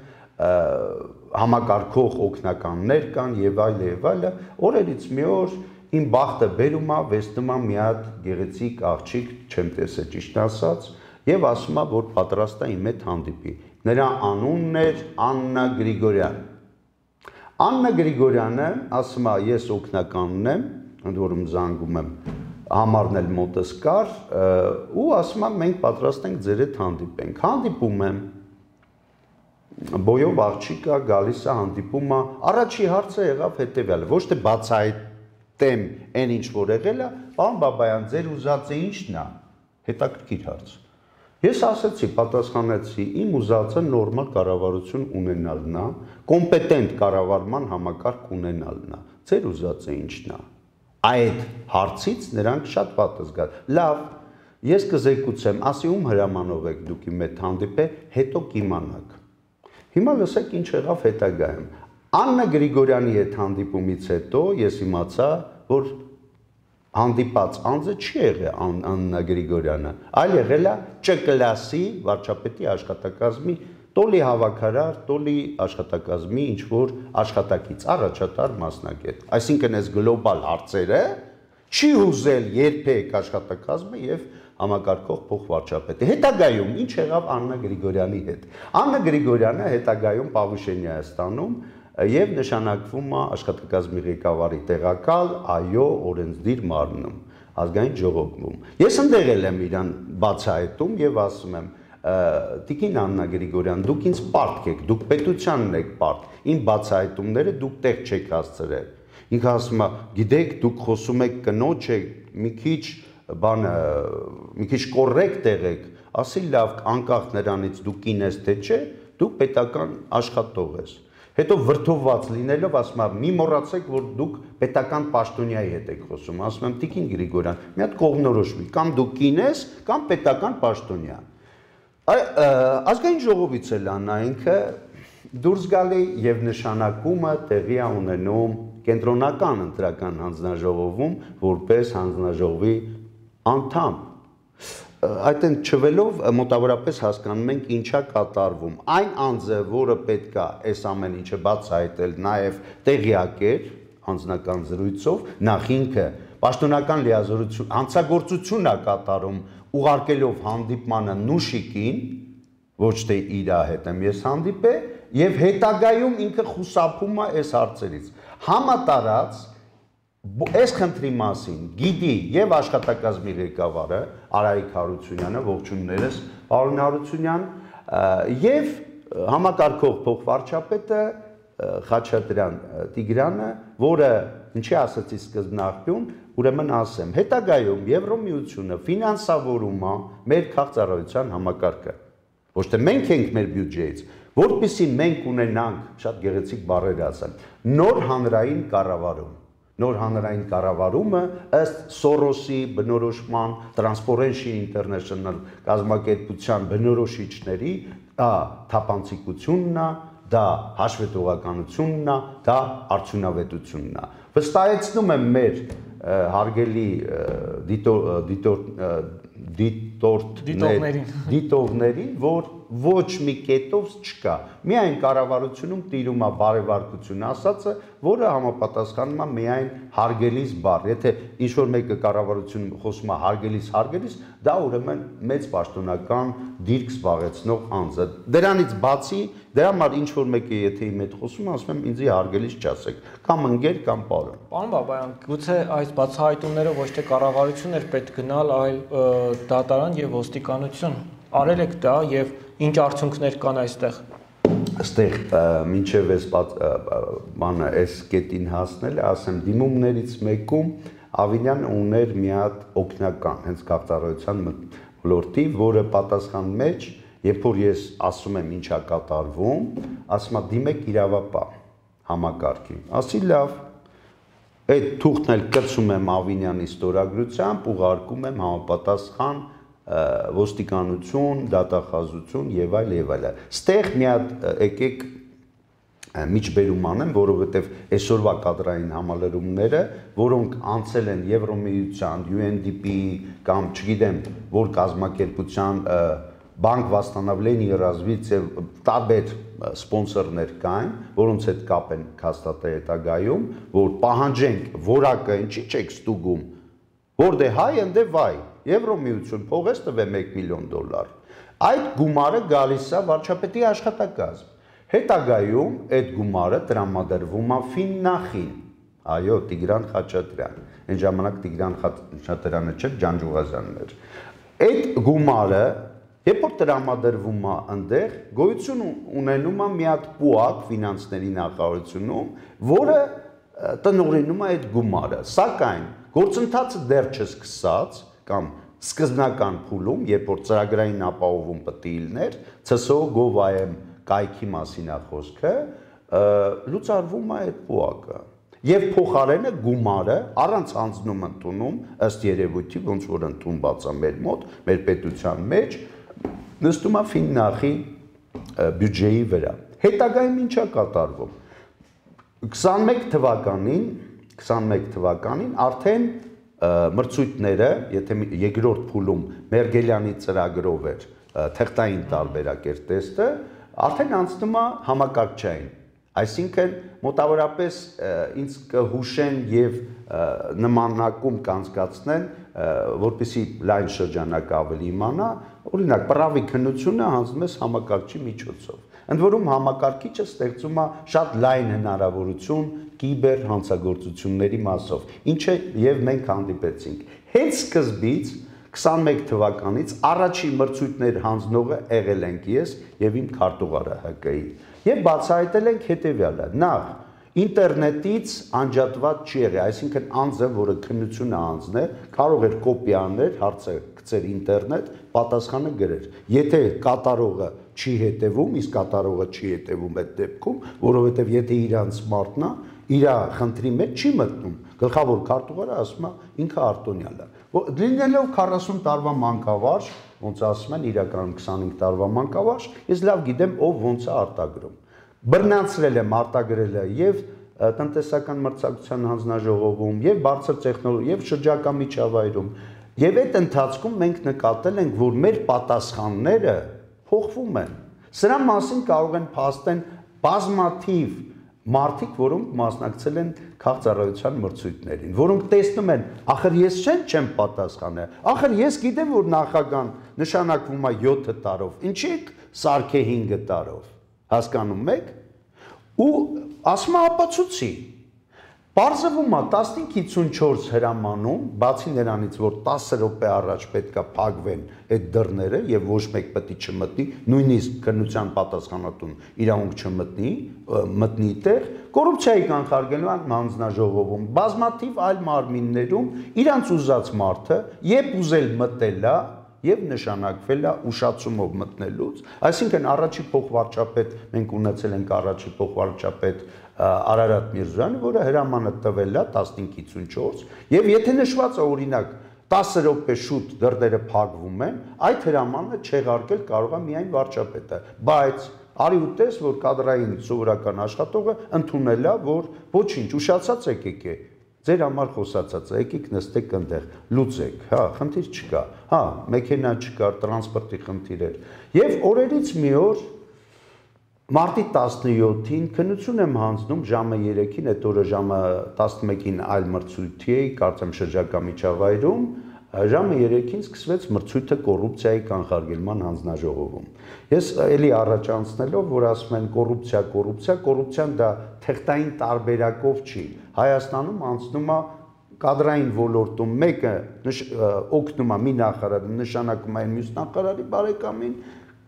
համակարգող օգնականներ կան եւ այլ եւ այլը օրերից մի օր Իմ բախտը բերում է, վեստում է մի հատ գեղեցիկ աղջիկ, չեմ տեսել ճիշտ ասած, եւ ասում է, որ պատրաստ է իմ հետ հանդիպի։ Նրա անունն էր Աննա Գրիգորյան։ Աննա Գրիգորյանը ասում է, ես օգնականն եմ, ընդ որում զանգում եմ, համարն էլ մոտս կար, ու ասում է, մենք պատրաստ ենք ձեր հետ հանդիպենք։ Հանդիպում եմ։ Բոյով աղջիկը գալիս է հանդիպում է, առաջի հարցը եղավ հետեւյալը, ոչ թե բացահայտ Տեմ այն ինչ որ եղել է, պարոն Բաբայան, ձեր ուզածը ի՞նչն է, հետաքրքիր հարց։ Ես ասացի, պատասխանեցի, իմ ուզածը նորմալ կառավարություն ունենալն է, կոմպետենտ կառավարման համակարգ ունենալն է։ Ձեր ուզածը ի՞նչն է։ Այդ հարցից նրանք շատ վատ զգան։ Լավ, ես կզեկուցեմ, ասի ում հրամանով եք դուք իմ հետ հանդիպել, հետո կիմանաք։ Հիմա լսեք ինչ եղավ հետագայում։ Աննա Գրիգորյանի հետ հանդիպումից հետո ես իմացա, որ հանդիպած անձը չի եղել Աննա Գրիգորյանը, այլ եղել է Չ կլասի վարչապետի աշխատակազմի տոլի հավաքարար, տոլի աշխատակազմի ինչ որ աշխատակից, առաջատար մասնագետ։ Այսինքն այս գլոբալ հարցերը չի հուզել երբեք աշխատակազմը եւ համակարգող փոխվարչապետը։ Հետագայում ինչ եղավ Աննա Գրիգորյանի հետ։ Աննա Գրիգորյանը հետագայում Պավուշենիա է ստանում եւ նշանակվում է աշխատակազմի ղեկավարի տեղակալ այո օրենսդիր մարմնում ազգային ժողովում։ Ես ընդեղել եմ իրան բացահայտում եւ ասում եմ Տիկին Աննա Գրիգորյան, դուք ինձ պարտք եք, դուք պետությանն եք պարտ, իմ բացահայտումները դուք տեղ չեք հասցրել։ Ինքը ասում է, գիտեք, դուք խոսում եք կնոջ եք, մի քիչ բանը, մի քիչ կոռեկտ եղեք, ասի լավ, անկախ նրանից դուք կին ես թե չէ, դուք պետական աշխատող ես։ Հետո վրդովված լինելով ասում եմ, մի մոռացեք, որ դուք պետական պաշտոնյայի հետ եք խոսում, ասում եմ, Տիկին Գրիգորյան, մի հատ կողմնորոշվի, կամ դուք կին ես, կամ պետական պաշտոնյա։ Ազգային ժողովից էլ Աննա ինքը դուրս գալի եւ նշանակումը տեղի է ունենում կենտրոնական ընտրական հանձնաժողովում որպես հանձնաժողովի անդամ։ Այդտեն չվելով մոտավորապես հասկանում ենք ինչա կատարվում։ Այն անձը, որը պետք է այս ամեն ինչը բացահայտել, նաեւ տեղյակ էր անձնական զրույցով, նախ ինքը պաշտոնական լիազորություն, հանցագործություն է կատարում ուղարկելով հանդիպմանը Նուշիկին, ոչ թե իր հետ եմ ես հանդիպել, եւ հետագայում ինքը խուսափում է այս հարցերից։ Համատարած այս խնդրի մասին գիտի եւ աշխատակազմի ղեկավարը Արայիկ Հարությունյանը, ողջուններս, պարոն Հարությունյան, եւ համակարգող փոխվարչապետը Խաչատրյան Տիգրանը, որը ինչի ասացի սկզբնաղբյուն, ուրեմն ասեմ, հետագայում Եվրոմիությունը ֆինանսավորում է մեր քաղաքացիության համակարգը։ Ոչ թե մենք ենք մեր բյուջեից, որպեսզի մենք ունենանք, շատ գեղեցիկ բառեր ասեմ, նոր հանրային կառավարում։ Նոր հանրային կառավարումը ըստ Սորոսի բնորոշման, Transparency International կազմակերպության բնորոշիչների, դա թափանցիկությունն է, դա հաշվետվողականությունն է, դա արդյունավետությունն է։ Վստահեցնում եմ մեր հարգելի դիտողներին, որ ոչ մի կետով չկա։ Միայն կառավարությունում տիրում է բարեվարկություն ասածը, որը համապատասխանում է միայն հարգելիս բառ։ Եթե ինչ-որ մեկը կառավարությունում խոսում է հարգելիս, հարգելիս, դա ուրեմն մեծ պաշտոնական դիրք զբաղեցնող անձ է։ Դրանից բացի, դրա համար ինչ-որ մեկը եթե իմ հետ խոսում է, ասում եմ ինձ հարգելիս չասեք, կամ ընկեր, կամ պարոն։ Պարոն Բաբայան, գուցե այս բացահայտումները ոչ թե կառավարություն էր պետք գնալ, այլ դատարան եւ ոստիկանություն։ Արել եք դա եւ ինչ արդյունքներ կան այստեղ։ Այստեղ մինչև այս բանը այս կետին հասնել, ասեմ դիմումներից մեկում Ավինյան ուներ մի հատ օգնական, հենց քաղաքացիության ոլորտի, որը պատասխան մեջ, երբ որ ես ասում եմ ինչա կատարվում, ասում եմ դիմեք իրավապահ համակարգին։ Ասի լավ, այդ թուղթն էլ կցում եմ Ավինյանի ստորագրությամբ, ուղարկում եմ համապատասխան ոստիկանություն, դատախազություն եւ այլ եւ այլ։ Ստեղ մի հատ եկեք միջբերում անեմ, որովհետեւ այսօրվա կադրային համալրումները, որոնք անցել են Եվրոմիության, յու էն դի պի-ի կամ չգիտեմ, որ կազմակերպության Բանկ Восстановления и развития տարբեր սպոնսորներ կային, որոնց հետ կապ են հաստատել հետագայում, որ պահանջենք որակը ինչի՞ չեք ստուգում, որտե հայ ընդե վայ, Եվրոմիություն փողես տվե մեկ միլիոն դոլար։ Այդ գումարը գալիս է վարչապետի աշխատակազմ։ Հետագայում այդ գումարը տրամադրվում է Ֆիննախին։ Այո, Տիգրան Խաչատրյան։ Այն ժամանակ Տիգրան Խաչատրյանը չէր, Ջանջուղազյանն էր։ Այդ գումարը երբ որ տրամադրվում է այնտեղ, գոյություն ունենում է մի հատ պուակ ֆինանսների նախարարությունում, որը տնօրինում է այդ գումարը։ Սակայն գործընթացը դեռ չսկսած կամ սկզբնական փուլում, երբ որ ծրագրային ապահովում պետք է լիներ, ցե էս օ գով-այ էմ կայքի մասին է խոսքը, լուծարվում է այդ պուակը։ Եվ փոխարենը գումարը առանց անձնում ընդունում, ըստ երևույթի, ոնց որ ընդունված է մեր մոտ, մեր պետության մեջ, նստում է Ֆիննախի բյուջեի վրա։ Հետագայում ինչ է կատարվում։ քսանմեկ թվականին, քսանմեկ թվականին արդեն մրցույթները, եթե երկրորդ փուլում Մերգելյանի ծրագրով էր թղթային տարբերակ էր տեստը, արդեն անցնում է համակարգչային։ Այսինքն մոտավորապես ինձ կհուշեն եւ նմանակում կանցկացնեն, որպեսզի լայն շրջանակ ավելի իմանա, օրինակ պրավի քննությունը հանձնում ես համակարգչի միջոցով։ Ընդ որում համակարգիչը ստեղծում է շատ լայն հնարավորություն կիբեր հանցագործությունների մասով, ինչը եւ մենք հանդիպեցինք։ Հենց սկզբից քսանմեկ թվականից առաջի մրցույթներ հանձնողը եղել ենք ես եւ իմ քարտուղարը Հ Կ-ի։ Եվ բացահայտել ենք հետեւյալը. նախ ինտերնետից անջատված չի եղել, այսինքն անձը, որը քննությունը անձներ, կարող էր կոպի անել, հարցը գցեր ինտերնետ, պատասխանը գրեր։ Եթե կատարողը չի հետևում, իսկ կատարողը չի հետևում այդ դեպքում, որովհետև եթե իրանց մարդն է, իր խնդրի մեջ չի մտնում, գլխավոր քարտուղարը ասում է ինքը արտոնյալ է։ Լինելով քառասուն տարվա մանկավարժ, ոնց ասում են, իրականում քսանհինգ տարվա մանկավարժ, ես լավ գիտեմ ով ոնց է արտագրում։ Բռնացրել եմ արտագրելը եւ տնտեսական մրցակցության հանձնաժողովում, եւ բարձր տեխնոլոգիա, եւ շրջակա միջավայրում։ Եվ այդ ընթացքում մենք նկատել ենք, որ մեր պատասխանները փոխվում են։ Սրա մասին կարող են փաստեն բազմաթիվ մարդիկ, որոնք մասնակցել են քաղաքացիական մրցույթներին, որոնք տեսնում են, ախր ես չեմ պատասխանել, ախր ես գիտեմ, որ նախագահան նշանակվում է յոթ տարով, ինչի՞ սարքե հինգ տարով, հասկանում եք, ու ասում է ապացուցի, պարզվում է տասնհինգ հիսունչորս հրամանում, բացի նրանից, որ տասը րոպե առաջ պետք է փակվեն այդ դռները եւ ոչ մեկ պետք է չմտնի, նույնիսկ քննության պատասխանատուն իրավունք չմտնի, մտնի տեղ, կոռուպցիայի կանխարգելման հանձնաժողովում, բազմաթիվ այլ մարմիններում իրանց ուզած մարդը, երբ ուզել մտել է եւ նշանակվել է ուշացումով մտնելուց, այսինքն առաջի փոխվարչապետ, մենք ունեցել ենք առաջի փոխվարչապետ Արարատ Միրզոյանը, որը հրամանը տվել է տասնհինգ հիսունչորս, եւ եթե նշված է օրինակ տասը րոպե շուտ դռները փակվում են, այդ հրամանը չեղարկել կարող է միայն վարչապետը, բայց արի ու տես, որ կադրային սովորական աշխատողը ընդունել է, որ ոչինչ, ուշացած եկեք է, ձեր համար խոսացած է, եկեք նստեք այնտեղ, լուծեք, հա, խնդիր չկա, հա, մեքենա չկար, տրանսպորտի խնդիր էր։ Եվ օրերից մի օր Մարտի տասնյոթին քննություն եմ հանձնում ժամը երեքին, այդ օրը ժամը տասնմեկին այլ մրցույթի էի, կարծեմ շրջակա միջավայրում, ժամը երեքին սկսվեց մրցույթը կոռուպցիայի կանխարգելման հանձնաժողովում։ Ես էլի առաջ անցնելով, որ ասում են կոռուպցիա, կոռուպցիա, կոռուպցիան դա թղթային տարբերակով չի։ Հայաստանում անցնում է կադրային ոլորտում մեկը օգնում է մի նախարարը, նշանակում է մյուս նախարարի բարեկամին,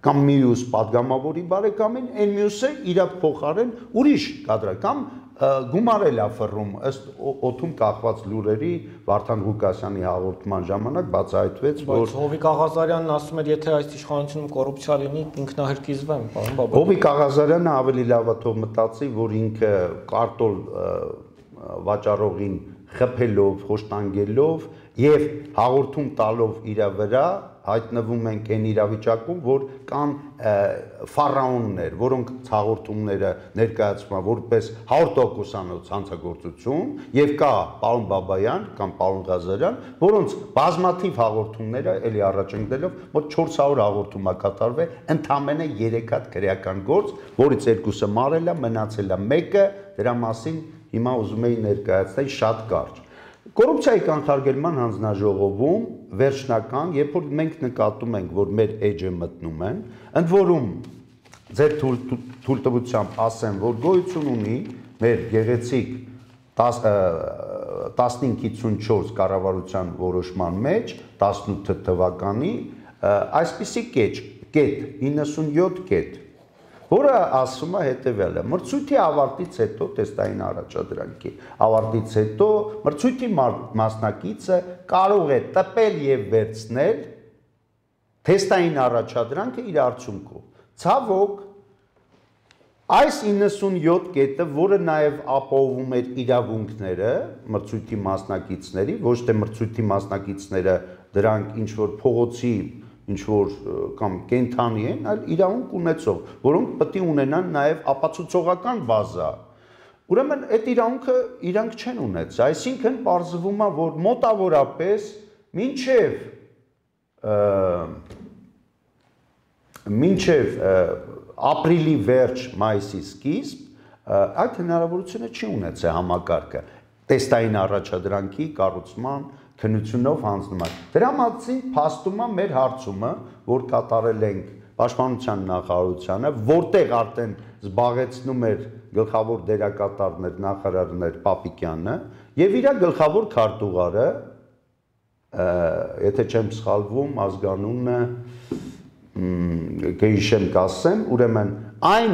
կամ մյուս падգամավորի բարեկամին, այն մյուսը իր փոխարեն ուրիշ կադրա կամ գումարել է ֆռում ըստ օդում կախված լուրերի Վարդան Ղուկասյանի հաղորդման ժամանակ բացահայտվեց, որ Հովիկ Աղազարյանն ասում էր, եթե այս իշխանությունում կոռուպցիա լինի, ինքնահրկիզվեմ, պարոն Բաբայան։ Հովիկ Աղազարյանը ավելի լավ է թող մտածի, որ ինքը կարտոլ վաճառողին խփելով, խոշտանգելով եւ հաղորդում տալով իր վրա հայտնվում ենք այն իրավիճակում, որ կան ֆարաոններ, որոնք հաղորդումները ներկայացվում են որպես հարյուր տոկոսանոց հանցագործություն, եւ կա պարոն Բաբայան կամ պարոն Ղազարյան, որոնց բազմաթիվ հաղորդումները էլի առաջ ընկնելով մոտ չորս հարյուր հաղորդում է կատարվել, ընդամենը երեք հատ քրեական գործ, որից երկուսը մարել է, մնացել է մեկը, դրա մասին հիմա ուզում էի ներկայացնել շատ կարճ։ Կոռուպցիայի կանխարգելման հանձնաժողովում վերջնական, երբ որ մենք նկատում ենք, որ մեր էջը մտնում են, ընդ որում ձեր թույլտվությամբ ասեմ, որ գոյություն ունի մեր գեղեցիկ տասնհինգ հիսունչորս կառավարության որոշման մեջ տասնութ թվականի այսպիսի կետ, իննսունյոթ կետ, որը ասում է հետևյալը. մրցույթի ավարտից հետո տեստային առաջադրանքի ավարտից հետո մրցույթի մասնակիցը կարող է տպել եւ վերցնել տեստային առաջադրանքը իր արդյունքով։ Ցավոք, այս իննսունյոթ կետը, որը նաև ապահովում էր իրավունքները մրցույթի մասնակիցների, ոչ թե մրցույթի մասնակիցները դրանք ինչ որ փողոցի, ինչ որ կամ կենթանի են, այլ իրավունք ունեցող, որոնք պետք է ունենան նաև ապացուցողական բազա։ Ուրեմն այդ իրավունքը իրանք չեն ունեցել, այսինքն պարզվում է, որ մոտավորապես մինչև մինչև ապրիլի վերջ, մայիսի սկիզբ այդ հնարավորությունը չի ունեցել համակարգը տեստային առաջադրանքի կառուցման քննությունով հանձնման։ Դրա մասին փաստում է մեր հարցումը, որ կատարել ենք Պաշտպանության նախարարությանը, որտեղ արդեն զբաղեցնում էր գլխավոր դերակատարներ նախարարներ Պապիկյանը եւ իր գլխավոր քարտուղարը, եթե չեմ սխալվում, ազգանունը կհիշեմ կասեմ, ուրեմն այն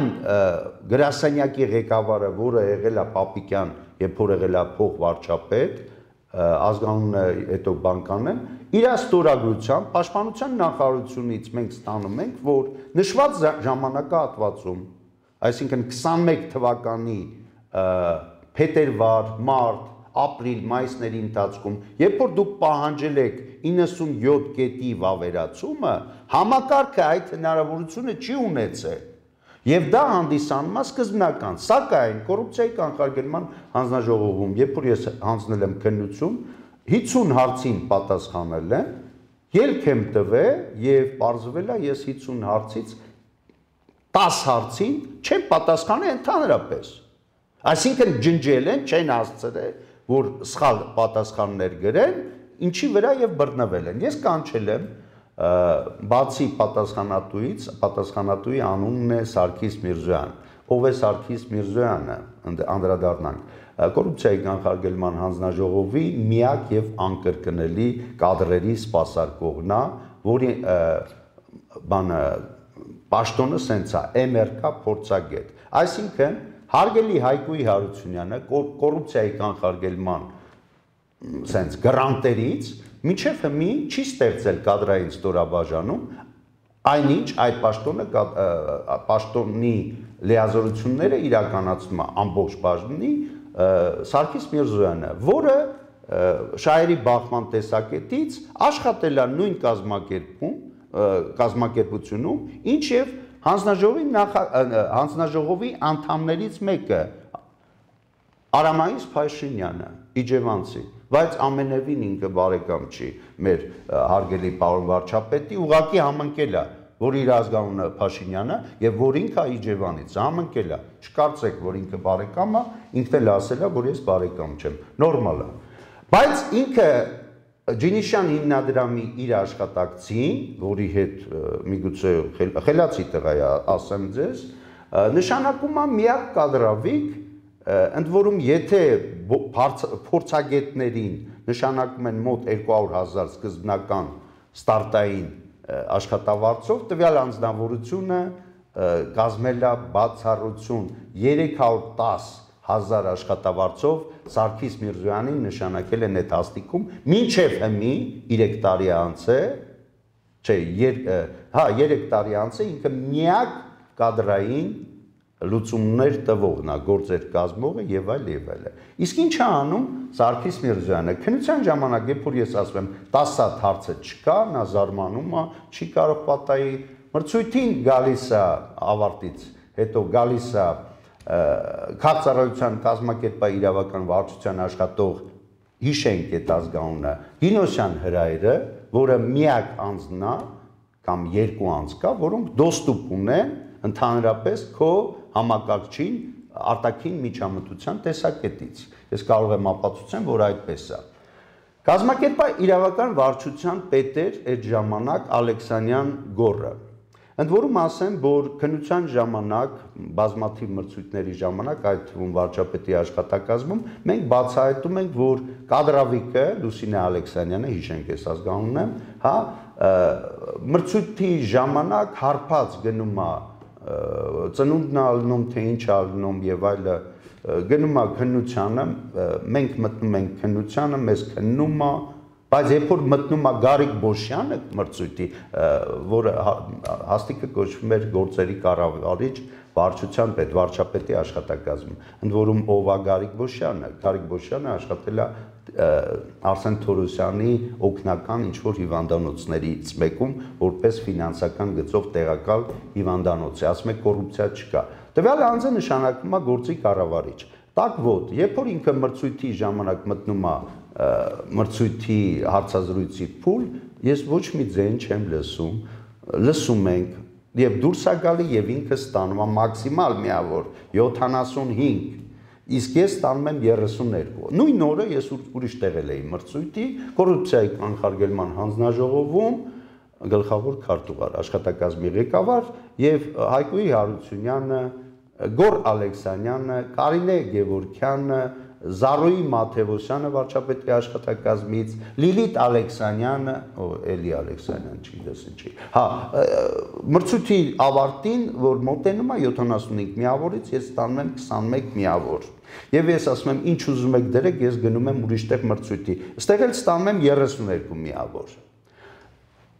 գրասենյակի ղեկավարը, որը եղել է Պապիկյան, երբ որ եղել է փոխվարչապետ, ազգանունը հետո բանկանեմ, իր ստորագրությամբ Պաշտպանության նախարարությունից մենք ստանում ենք, որ նշված ժամանակահատվածում, այսինքն քսանմեկ թվականի փետրվար, մարտ, ապրիլ, մայիսների ընթացքում, երբ որ դուք պահանջել եք իննսունյոթ կետի վավերացումը, համակարգը այդ հնարավորությունը չի ունեցել։ Եվ դա հանդիսանում է սկզբնական, սակայն կոռուպցիայի կանխարգելման հանձնաժողովում, երբ որ ես հանձնել եմ քննություն, հինգ հարցին պատասխանել եմ, ելք եմ տվել եւ պարզվել է ես հինգ հարցից տասը հարցին չեմ պատասխանել ընդհանրապես։ Այսինքն ջնջել են, չեն հասցրել, որ սխալ պատասխաններ գրեն, ինչի վրա եւ բռնվել են։ Ես կանչել եմ բացի պատասխանատուից, պատասխանատուի անունն է Սարգիս Միրզոյան։ Ով է Սարգիս Միրզոյանը, անդրադառնանք, կոռուպցիայի կանխարգելման հանձնաժողովի միակ եւ անկրկնելի կադրերի սպասարկողն է, որի բանը պաշտոնը սենց է, էմ էր կա փորձագետ։ Այսինքն հարգելի Հայկուի Հարությունյանը կոռուպցիայի կանխարգելման սենց գրանտերից մինչև հիմի չի ստեղծել կադրային ստորաբաժանում, այնինչ այդ պաշտոնը պաշտոնի լիազորությունները իրականացնում է ամբողջ բաժնի Սարգիս Միրզոյանը, որը շահերի բախման տեսակետից աշխատել է նույն կազմակերպում, կազմակերպությունում, ինչ եւ հանձնաժողովի հանձնաժողովի անդամներից մեկը Արամայիս Փաշինյանը, իջևանցի, բայց ամենևին ինքը բարեկամ չի մեր հարգելի պարոն վարչապետի, ուղղակի համընկել է, որ իր ազգանունը Փաշինյանը եւ որ ինքը Իջևանից համընկել է։ Չկարծեք, որ ինքը բարեկամ է, ինքն էլ ասել է, որ ես բարեկամ չեմ, նորմալ է։ Բայց ինքը Ջինիշյան հիմնադրամի իր աշխատակցին, որի հետ միգուցե խելացի տղա է, ասեմ ձեզ, նշանակում է միակ կադրավիկ, ընդ որում եթե փորձագետներին նշանակում են մոտ երկու հարյուր հազար սկզբնական ստարտային աշխատավարձով, տվյալ անձնավորությունը կազմել է բացառություն երեք հարյուր տասը հազար աշխատավարձով Սարգիս Միրզոյանին նշանակել են այդ հաստիքում, մինչև հիմի երեք տարի անց է, չէ, հա, երեք տարի անց է ինքը միակ կադրային լուծումներ տվողն է, գործեր կազմողը եւ այլ եւ այլ։ Իսկ ինչ է անում Սարգիս Միրզոյանը։ Քննության ժամանակ, երբ որ ես ասում եմ տասը հարցը չկա, նա զարմանում է, չի կարող պատահի, մրցույթին գալիս է ավարտից, հետո գալիս է քաղաքացիության կազմակերպային իրավական վարչության աշխատող հիշենք այդ ազգանունը Գինոսյան Հրայրը, որը միակ անձն է կամ երկու անձ կա, որոնք դոստուպ ունեն ընդհանրապես քո համակարգչին արտաքին միջամտության տեսակետից։ Ես կարող եմ ապացուցեմ, որ այդպես է։ Կազմակերպային իրավական վարչության պետ էր այդ ժամանակ Ալեքսանյան Գոռը։ Ընդ որում ասեմ, որ քննության ժամանակ, բազմաթիվ մրցույթների ժամանակ, այդ թվում վարչապետի աշխատակազմում, մենք բացահայտում ենք, որ կադրավիկը Լուսինե Ալեքսանյանը, հիշենք ես ազգանունն եմ, հա, մրցույթի ժամանակ հարբած գնում է, ծնունդն ալնում, թե ինչ ալնում եւ այլը, գնում է քննությանը, մենք մտնում ենք քննությանը, մեզ քննում է, Բայց երբ որ մտնում է Գարիկ Բոշյանը մրցույթի, որը հաստիկը կոչվում էր գործերի կառավարիչ, վարչության պետ, վարչապետի աշխատակազմում, ընդ որում ով է Գարիկ Բոշյանը, Գարիկ Բոշյանը աշխատել է Արսեն Թորոսյանի օգնական ինչ-որ հիվանդանոցներից մեկում, որպես ֆինանսական գծով տեղակալ հիվանդանոց է, ասում է կոռուպցիա չկա։ Տվյալ անձը նշանակվում է գործի կառավարիչ։ Տակ ոտ, երբ որ ինքը մրցույթի ժամանակ մտնում է մրցույթի հարցազրույցի փուլ, ես ոչ մի ձայն չեմ լսում, լսում ենք եւ դուրս է գալի եւ ինքը ստանում է մաքսիմալ միավոր յոթանասունհինգ, իսկ ես ստանում եմ երեսուններկու։ Նույն օրը ես ուրիշ տեղել էի մրցույթի կոռուպցիայի կանխարգելման հանձնաժողովում գլխավոր քարտուղար, աշխատակազմի ղեկավար եւ Հայկոյի Հարությունյանը, Գոր Ալեքսանյանը, Կարինե Գևորգյանը, Զարոյի Մաթևոսյանը վարչապետի աշխատակազմից, Լիլիթ Ալեքսանյանը, ո Էլի Ալեքսանյան չգիտես ինչի։ Հա, մրցույթի ավարտին, որ մոտենում է յոթանասունհինգ միավորից, ես ստանում եմ քսանմեկ միավոր։ Եվ ես ասում եմ, ինչ ուզում եք դրեք, ես գնում եմ ուրիշ տեղ մրցույթի։ Ստեղ էլ ստանում եմ երեսուներկու միավոր։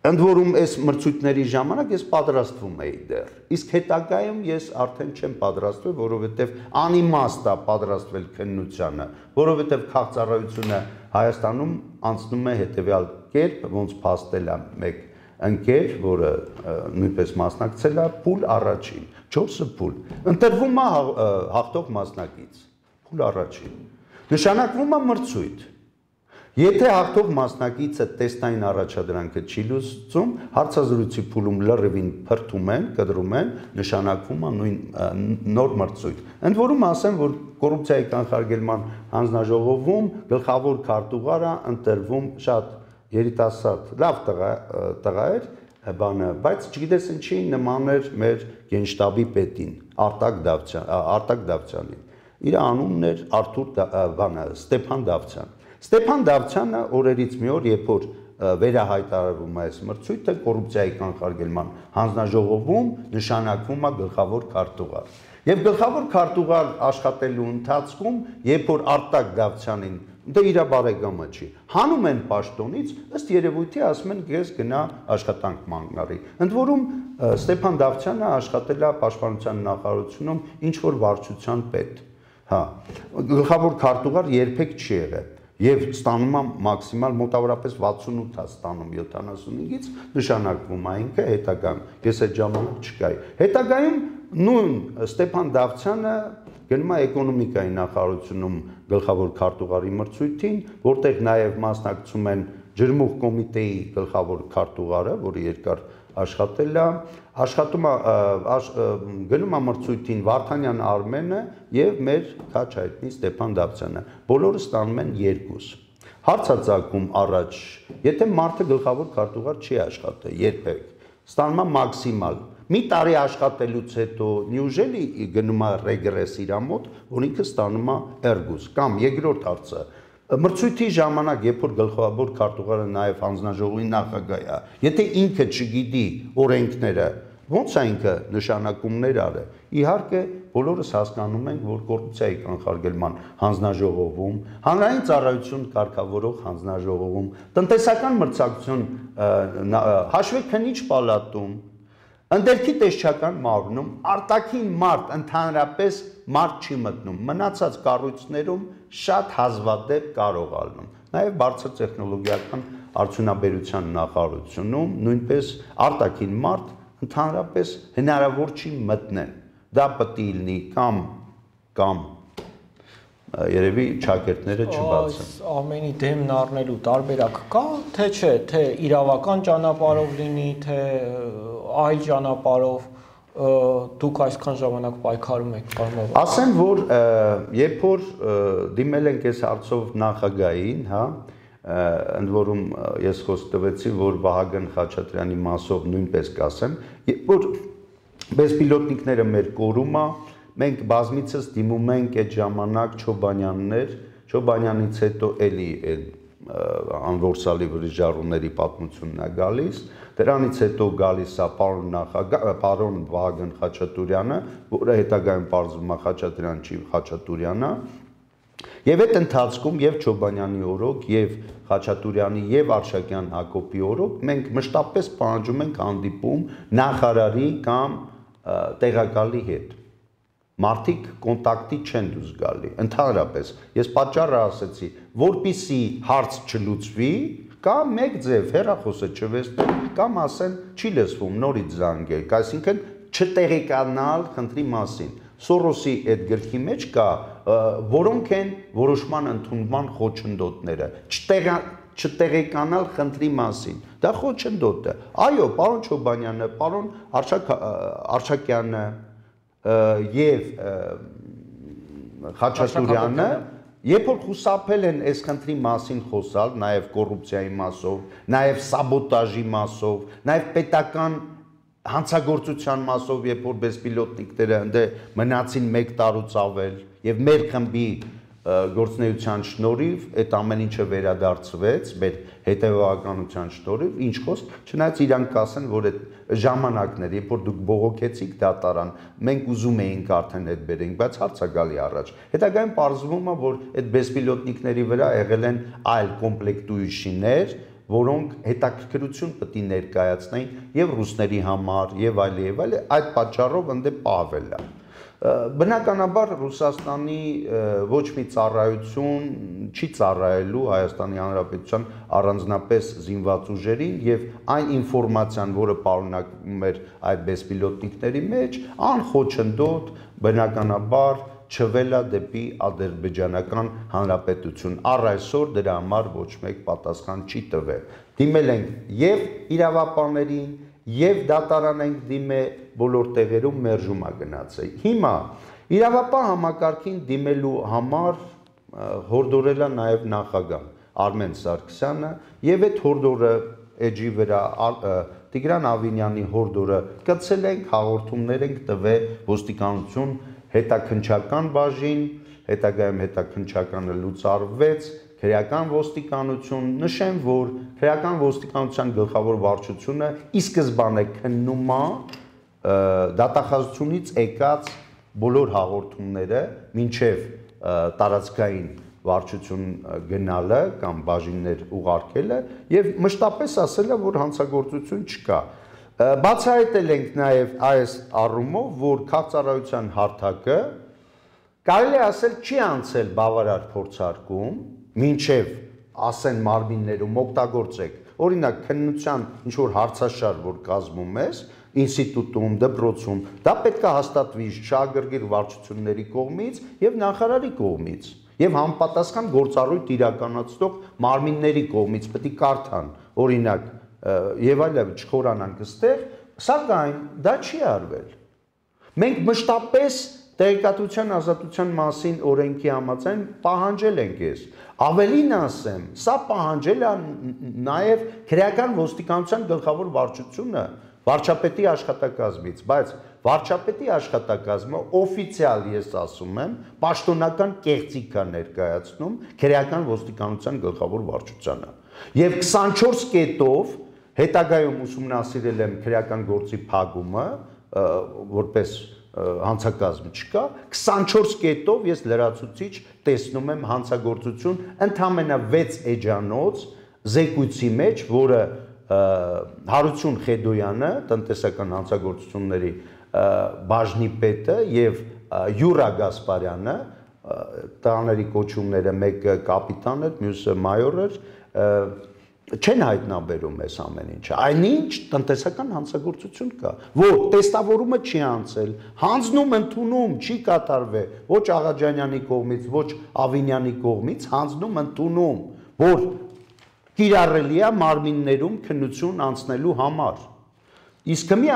Ընդ որում այս մրցույթների ժամանակ ես պատրաստվում էի դեռ, իսկ հետագայում ես արդեն չեմ պատրաստվել, որովհետև անիմաստ է պատրաստվել քննությանը, որովհետև քաղաքծառայությունը Հայաստանում անցնում է հետևյալ կերպ, ոնց փաստել է մեկ ընկեր, որը նույնպես մասնակցել է, փուլ առաջին, չորսը փուլ, ընտրվում է հաղթող մասնակից, փուլ առաջին, նշանակվում է մրցույթ։ Եթե հաղթող մասնակիցը տեստային առաջադրանքը չի լուծում, հարցազրույցի փուլում լրիվին փրթում են, կտրում են, նշանակվում է նույն նոր մրցույթ։ Ընդ որում ասեմ, որ կոռուպցիայի կանխարգելման հանձնաժողովում գլխավոր քարտուղարը ընտրվում շատ երիտասարդ, լավ տղա էր, բանը, բայց չգիտես ինչի նման էր մեր գենշտաբի պետին, Արտակ Դավթյանին։ Իր անունն էր Արթուր բանը, Ստեփան Դավթյան։ Ստեփան Դավթյանը օրերից մի օր, երբ որ վերահայտարարվում է այս մրցույթը, կոռուպցիայի կանխարգելման հանձնաժողովում նշանակվում է գլխավոր քարտուղար։ Եվ գլխավոր քարտուղար աշխատելու ընթացքում, երբ որ Արտակ Դավթյանին, դա իր բարեկամը չի, հանում են պաշտոնից, ըստ երևույթի ասում են ես գնա աշխատանք մանգնարի։ Ընդ որում Ստեփան Դավթյանը աշխատել է Պաշտպանության նախարարությունում ինչ-որ վարչության պետ։ Հա, գլխավոր քարտուղար երբեք չի եղել։ Եվ ստանում է մաքսիմալ մոտավորապես վաթսունութ է ստանում յոթանասունհինգից, նշանակվում է ինքը հետագայում, ես այդ ժամանակ չկայի։ Հետագայում նույն Ստեփան Դավթյանը գնում է էկոնոմիկայի նախարարությունում գլխավոր քարտուղարի մրցույթին, որտեղ նաև մասնակցում են ջրմուղ կոմիտեի գլխավոր քարտուղարը, որը երկար աշխատել է, աշխատում է գնում է մրցույթին Վարդանյան Արմենը եւ մեր քաչ հայտնի Ստեփան Դավթյանը։ Բոլորը ստանում են երկուս։ Հարց է ծագում առաջ, եթե մարդը գլխավոր քարտուղար չի աշխատել երբեք, ստանում է մաքսիմալ։ Մի տարի աշխատելուց հետո նյուժելի գնում է ռեգրես իր մոտ, որ ինքը ստանում է էրգուս, կամ երկրորդ հարցը մրցույթի ժամանակ, երբ որ գլխավոր քարտուղարը նաև հանձնաժողովի նախագահ է, եթե ինքը չգիտի օրենքները, ո՞նց է ինքը նշանակումներ արել։ Իհարկե, բոլորս հասկանում ենք, որ կոռուպցիայի կանխարգելման հանձնաժողովում, հանրային ծառայություն կարգավորող հանձնաժողովում, տնտեսական մրցակցություն հաշվեկնիչ պալատում, ընդերքի տեսչական մարմնում արտաքին մարդ ընդհանրապես մարդ չի մտնում, մնացած կառույցներում շատ հազվադեպ կարող ալնում։ Նաև բարձր տեխնոլոգիական արդյունաբերության նախարարությունում նույնպես արտաքին մարդ ընդհանրապես հնարավոր չի մտնել։ Դա պետք է լինի կամ կամ երևի ճակերտները չբացեն։ Ամենի դեմն առնելու տարբերակ կա, թե չէ, թե իրավական ճանապարհով լինի, թե այլ ճանապարհով դուք այսքան ժամանակ պայքարում եք, պարոն Բաբայան։ Ասեմ, որ երբ որ դիմել ենք այս հարցով նախագահին, հա, ընդ որում ես խոսք տվեցի, որ Վահագն Խաչատրյանի մասով նույնպես կասեմ, երբ որ բեսպիլոտնիկները մեր կորում է, մենք բազմիցս դիմում ենք այդ ժամանակ Չոբանյաններ, Չոբանյանից հետո էլի անորսալի վրիժառուների պատմությունն է գալիս, դրանից հետո գալիս է պարոն նախագահ, պարոն Վահագն Խաչատուրյանը, որը հետագայում պարզվում է Խաչատրյան չի, Խաչատուրյանը, Եվ այդ ընթացքում եւ Չոբանյանի օրոք, եւ Խաչատուրյանի եւ Արշակյան Հակոբի օրոք մենք մշտապես պահանջում ենք հանդիպում նախարարի կամ տեղակալի հետ։ Մարդիկ կոնտակտի չեն դուրս գալի, ընդհանրապես։ Ես պատճառը ասեցի, որպիսի հարց չլուծվի, կամ մեկ ձև հեռախոսը չվերցնել, կամ ասեն չի լսվում, նորից զանգեք, այսինքն չտեղեկանալ խնդրի մասին։ Սորոսի այդ գրքի մեջ կա, որոնք են որոշման ընդունման խոչընդոտները, չտեղեկանալ խնդրի մասին։ Դա խոչընդոտ է։ Այո, պարոն Չոբանյանը, պարոն Արշակյանը եւ Խաչատուրյանը, երբ որ խուսափել են այս խնդրի մասին խոսալ, նաեւ կոռուպցիայի մասով, նաեւ սաբոտաժի մասով, նաեւ պետական հանցագործության մասով, երբ որ բեսպիլոտնիկները ընդ մնացին մեկ տարուց ավել եւ մեր խմբի գործնեության շնորհիվ այդ ամեն ինչը վերադարձվեց մեր հետևողականության շնորհիվ, ինչ խոսք, չնայած իրանք կասեն, որ այդ ժամանակներ, երբ որ դուք բողոքեցիք դատարան, մենք ուզում էինք արդեն այդ բերենք, բայց հարց է գալի առաջ։ Հետագայում պարզվում է, որ այդ բեսպիլոտնիկների վրա եղել են այլ կոմպլեկտուющիներ, որոնք հետաքրքրություն պետք է ներկայացնեին եւ ռուսների համար, եւ այլ եւ այլ, այդ պատճառով ընդ պահվել է։ Բնականաբար Ռուսաստանի ոչ մի ծառայություն չի ծառայելու Հայաստանի Հանրապետության առանձնապես զինված ուժերին եւ այն ինֆորմացիան, որը պարունակում էր այդ բեսպիլոտնիկների մեջ, անխոչնդոտ բնականաբար չվելա դեպի ադրբեջանական հանրապետություն։ Առ այսօր դրա համար ոչ մեկ պատասխան չի տվել։ Դիմել ենք եւ իրավապահներին, եւ դատարան ենք դիմել, բոլոր տեղերում մերժում է գնացել։ Հիմա իրավապահ համակարգին դիմելու համար հորդորել է նաեւ նախագահ Արմեն Սարգսյանը եւ այդ հորդորը էջի վրա Տիգրան Ավինյանի հորդորը կցել ենք, հաղորդումներ ենք տվել ոստիկանություն հետաքննչական բաժին, հետագայում հետաքննչականը լուծարվեց, քրեական ոստիկանություն, նշեմ, որ քրեական ոստիկանության գլխավոր վարչությունը ի սկզբանե քննում է դատախազությունից եկած բոլոր հաղորդումները մինչև տարածքային վարչություն գնալը կամ բաժիններ ուղարկելը եւ մշտապես ասել է, որ հանցագործություն չկա։ Բացահայտել ենք նաեւ այս առումով, որ քաղաքացիության հարթակը կարելի է ասել չի անցել բավարար փորձարկում, մինչև ասեն մարմիններում օգտագործեք, օրինակ քննության ինչ որ հարցաշար, որ կազմում ես, ինստիտուտում, դպրոցում, դա պետք է հաստատվի շահագրգիռ վարչությունների կողմից եւ նախարարի կողմից եւ համապատասխան գործառույթ իրականացնող մարմինների կողմից պետք է կարդան, օրինակ եւ այլն չխորանանք այստեղ, սակայն դա չի արվել։ Մենք մշտապես տեղեկատվության ազատության մասին օրենքի համաձայն պահանջել ենք ես։ Ավելին ասեմ, սա պահանջել է նաև քրեական ոստիկանության գլխավոր վարչությունը վարչապետի աշխատակազմից, բայց վարչապետի աշխատակազմը օֆիցիալ ես ասում եմ, պաշտոնական կեղծիք է ներկայացնում քրեական ոստիկանության գլխավոր վարչությանը։ Եվ քսանչորս կետով հետագայում ուսումնասիրել եմ քրեական գործի փակումը, որպես հանցակազմ չկա, քսանչորս կետով ես լրացուցիչ տեսնում եմ հանցագործություն ընդամենը վեց էջանոց զեկույցի մեջ, որը Հարություն Խեդոյանը, տնտեսական հանցագործությունների բաժնի պետը եւ Յուրա Գասպարյանը, տաների կոչումները մեկը կապիտան էր, մյուսը մայոր էր, չեն հայտնաբերում այս ամեն ինչը, այնինչ տնտեսական հանցագործություն կա, որ տեստավորումը չի անցել, հանձնում ընդունում չի կատարվել, ոչ Աղաջանյանի կողմից, ոչ Ավինյանի կողմից, հանձնում ընդունում, որ կիրառելի է մարմիններում քննություն անցնելու համար։ Իսկ մի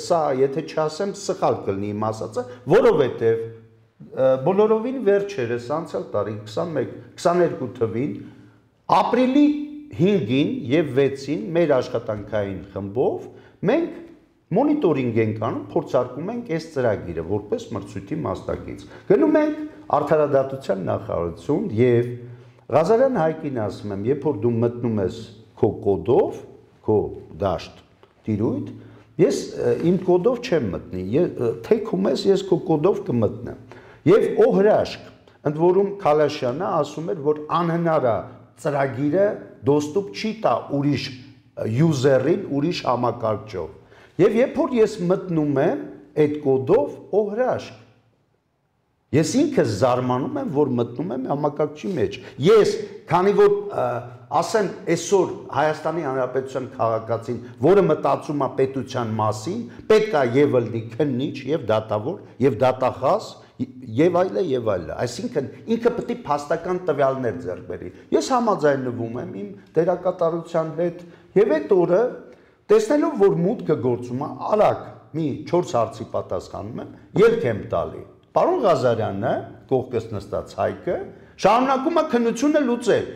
սա, եթե չասեմ, սխալ կլինի իմ ասածը, որովհետև բոլորովին վերջերս անցյալ տարի քսանմեկ քսաներկու թվին ապրիլի հինգին եւ վեցին մեր աշխատանքային խմբով մենք մոնիտորինգ ենք անում, փորձարկում ենք այս ծրագիրը որպես մրցույթի մասնակից։ Գնում ենք արդարադատության նախարարություն եւ Ղազարյան Հայկին ասում եմ, երբ որ դու մտնում ես քո կոդով, քո դաշտ տիրույթ, ես իմ կոդով չեմ մտնի, թեքում ես ես քո կոդով կմտնեմ։ Եվ օհրաշք ընդ որում Քալաշյանը ասում էր, որ անհնար է ծրագիրը դոստուպ չի տա ուրիշ յուզերին, ուրիշ համակարգչով։ Եվ երբ որ ես մտնում եմ այդ կոդով, օ հրաշք, ես ինքս զարմանում եմ, որ մտնում եմ համակարգչի մեջ։ Ես, քանի որ ասեմ այսօր Հայաստանի Հանրապետության քաղաքացին, որը մտածում է պետության մասին, պետք է եւ ըլլի քննիչ, եւ դատավոր, եւ դատախազ, եւ այլը եւ այլը։ Այսինքն ինքը պետք է փաստական տվյալներ ձեռք բերի։ Ես համաձայնվում եմ իմ դերակատարության հետ եւ այդ օրը տեսնելով, որ մուտքը գործում է, արագ մի չորս հարցի պատասխանում եմ, ելք եմ տալի։ Պարոն Ղազարյանը, կողքս նստած Հայկը, շարունակում է քննությունը լուծել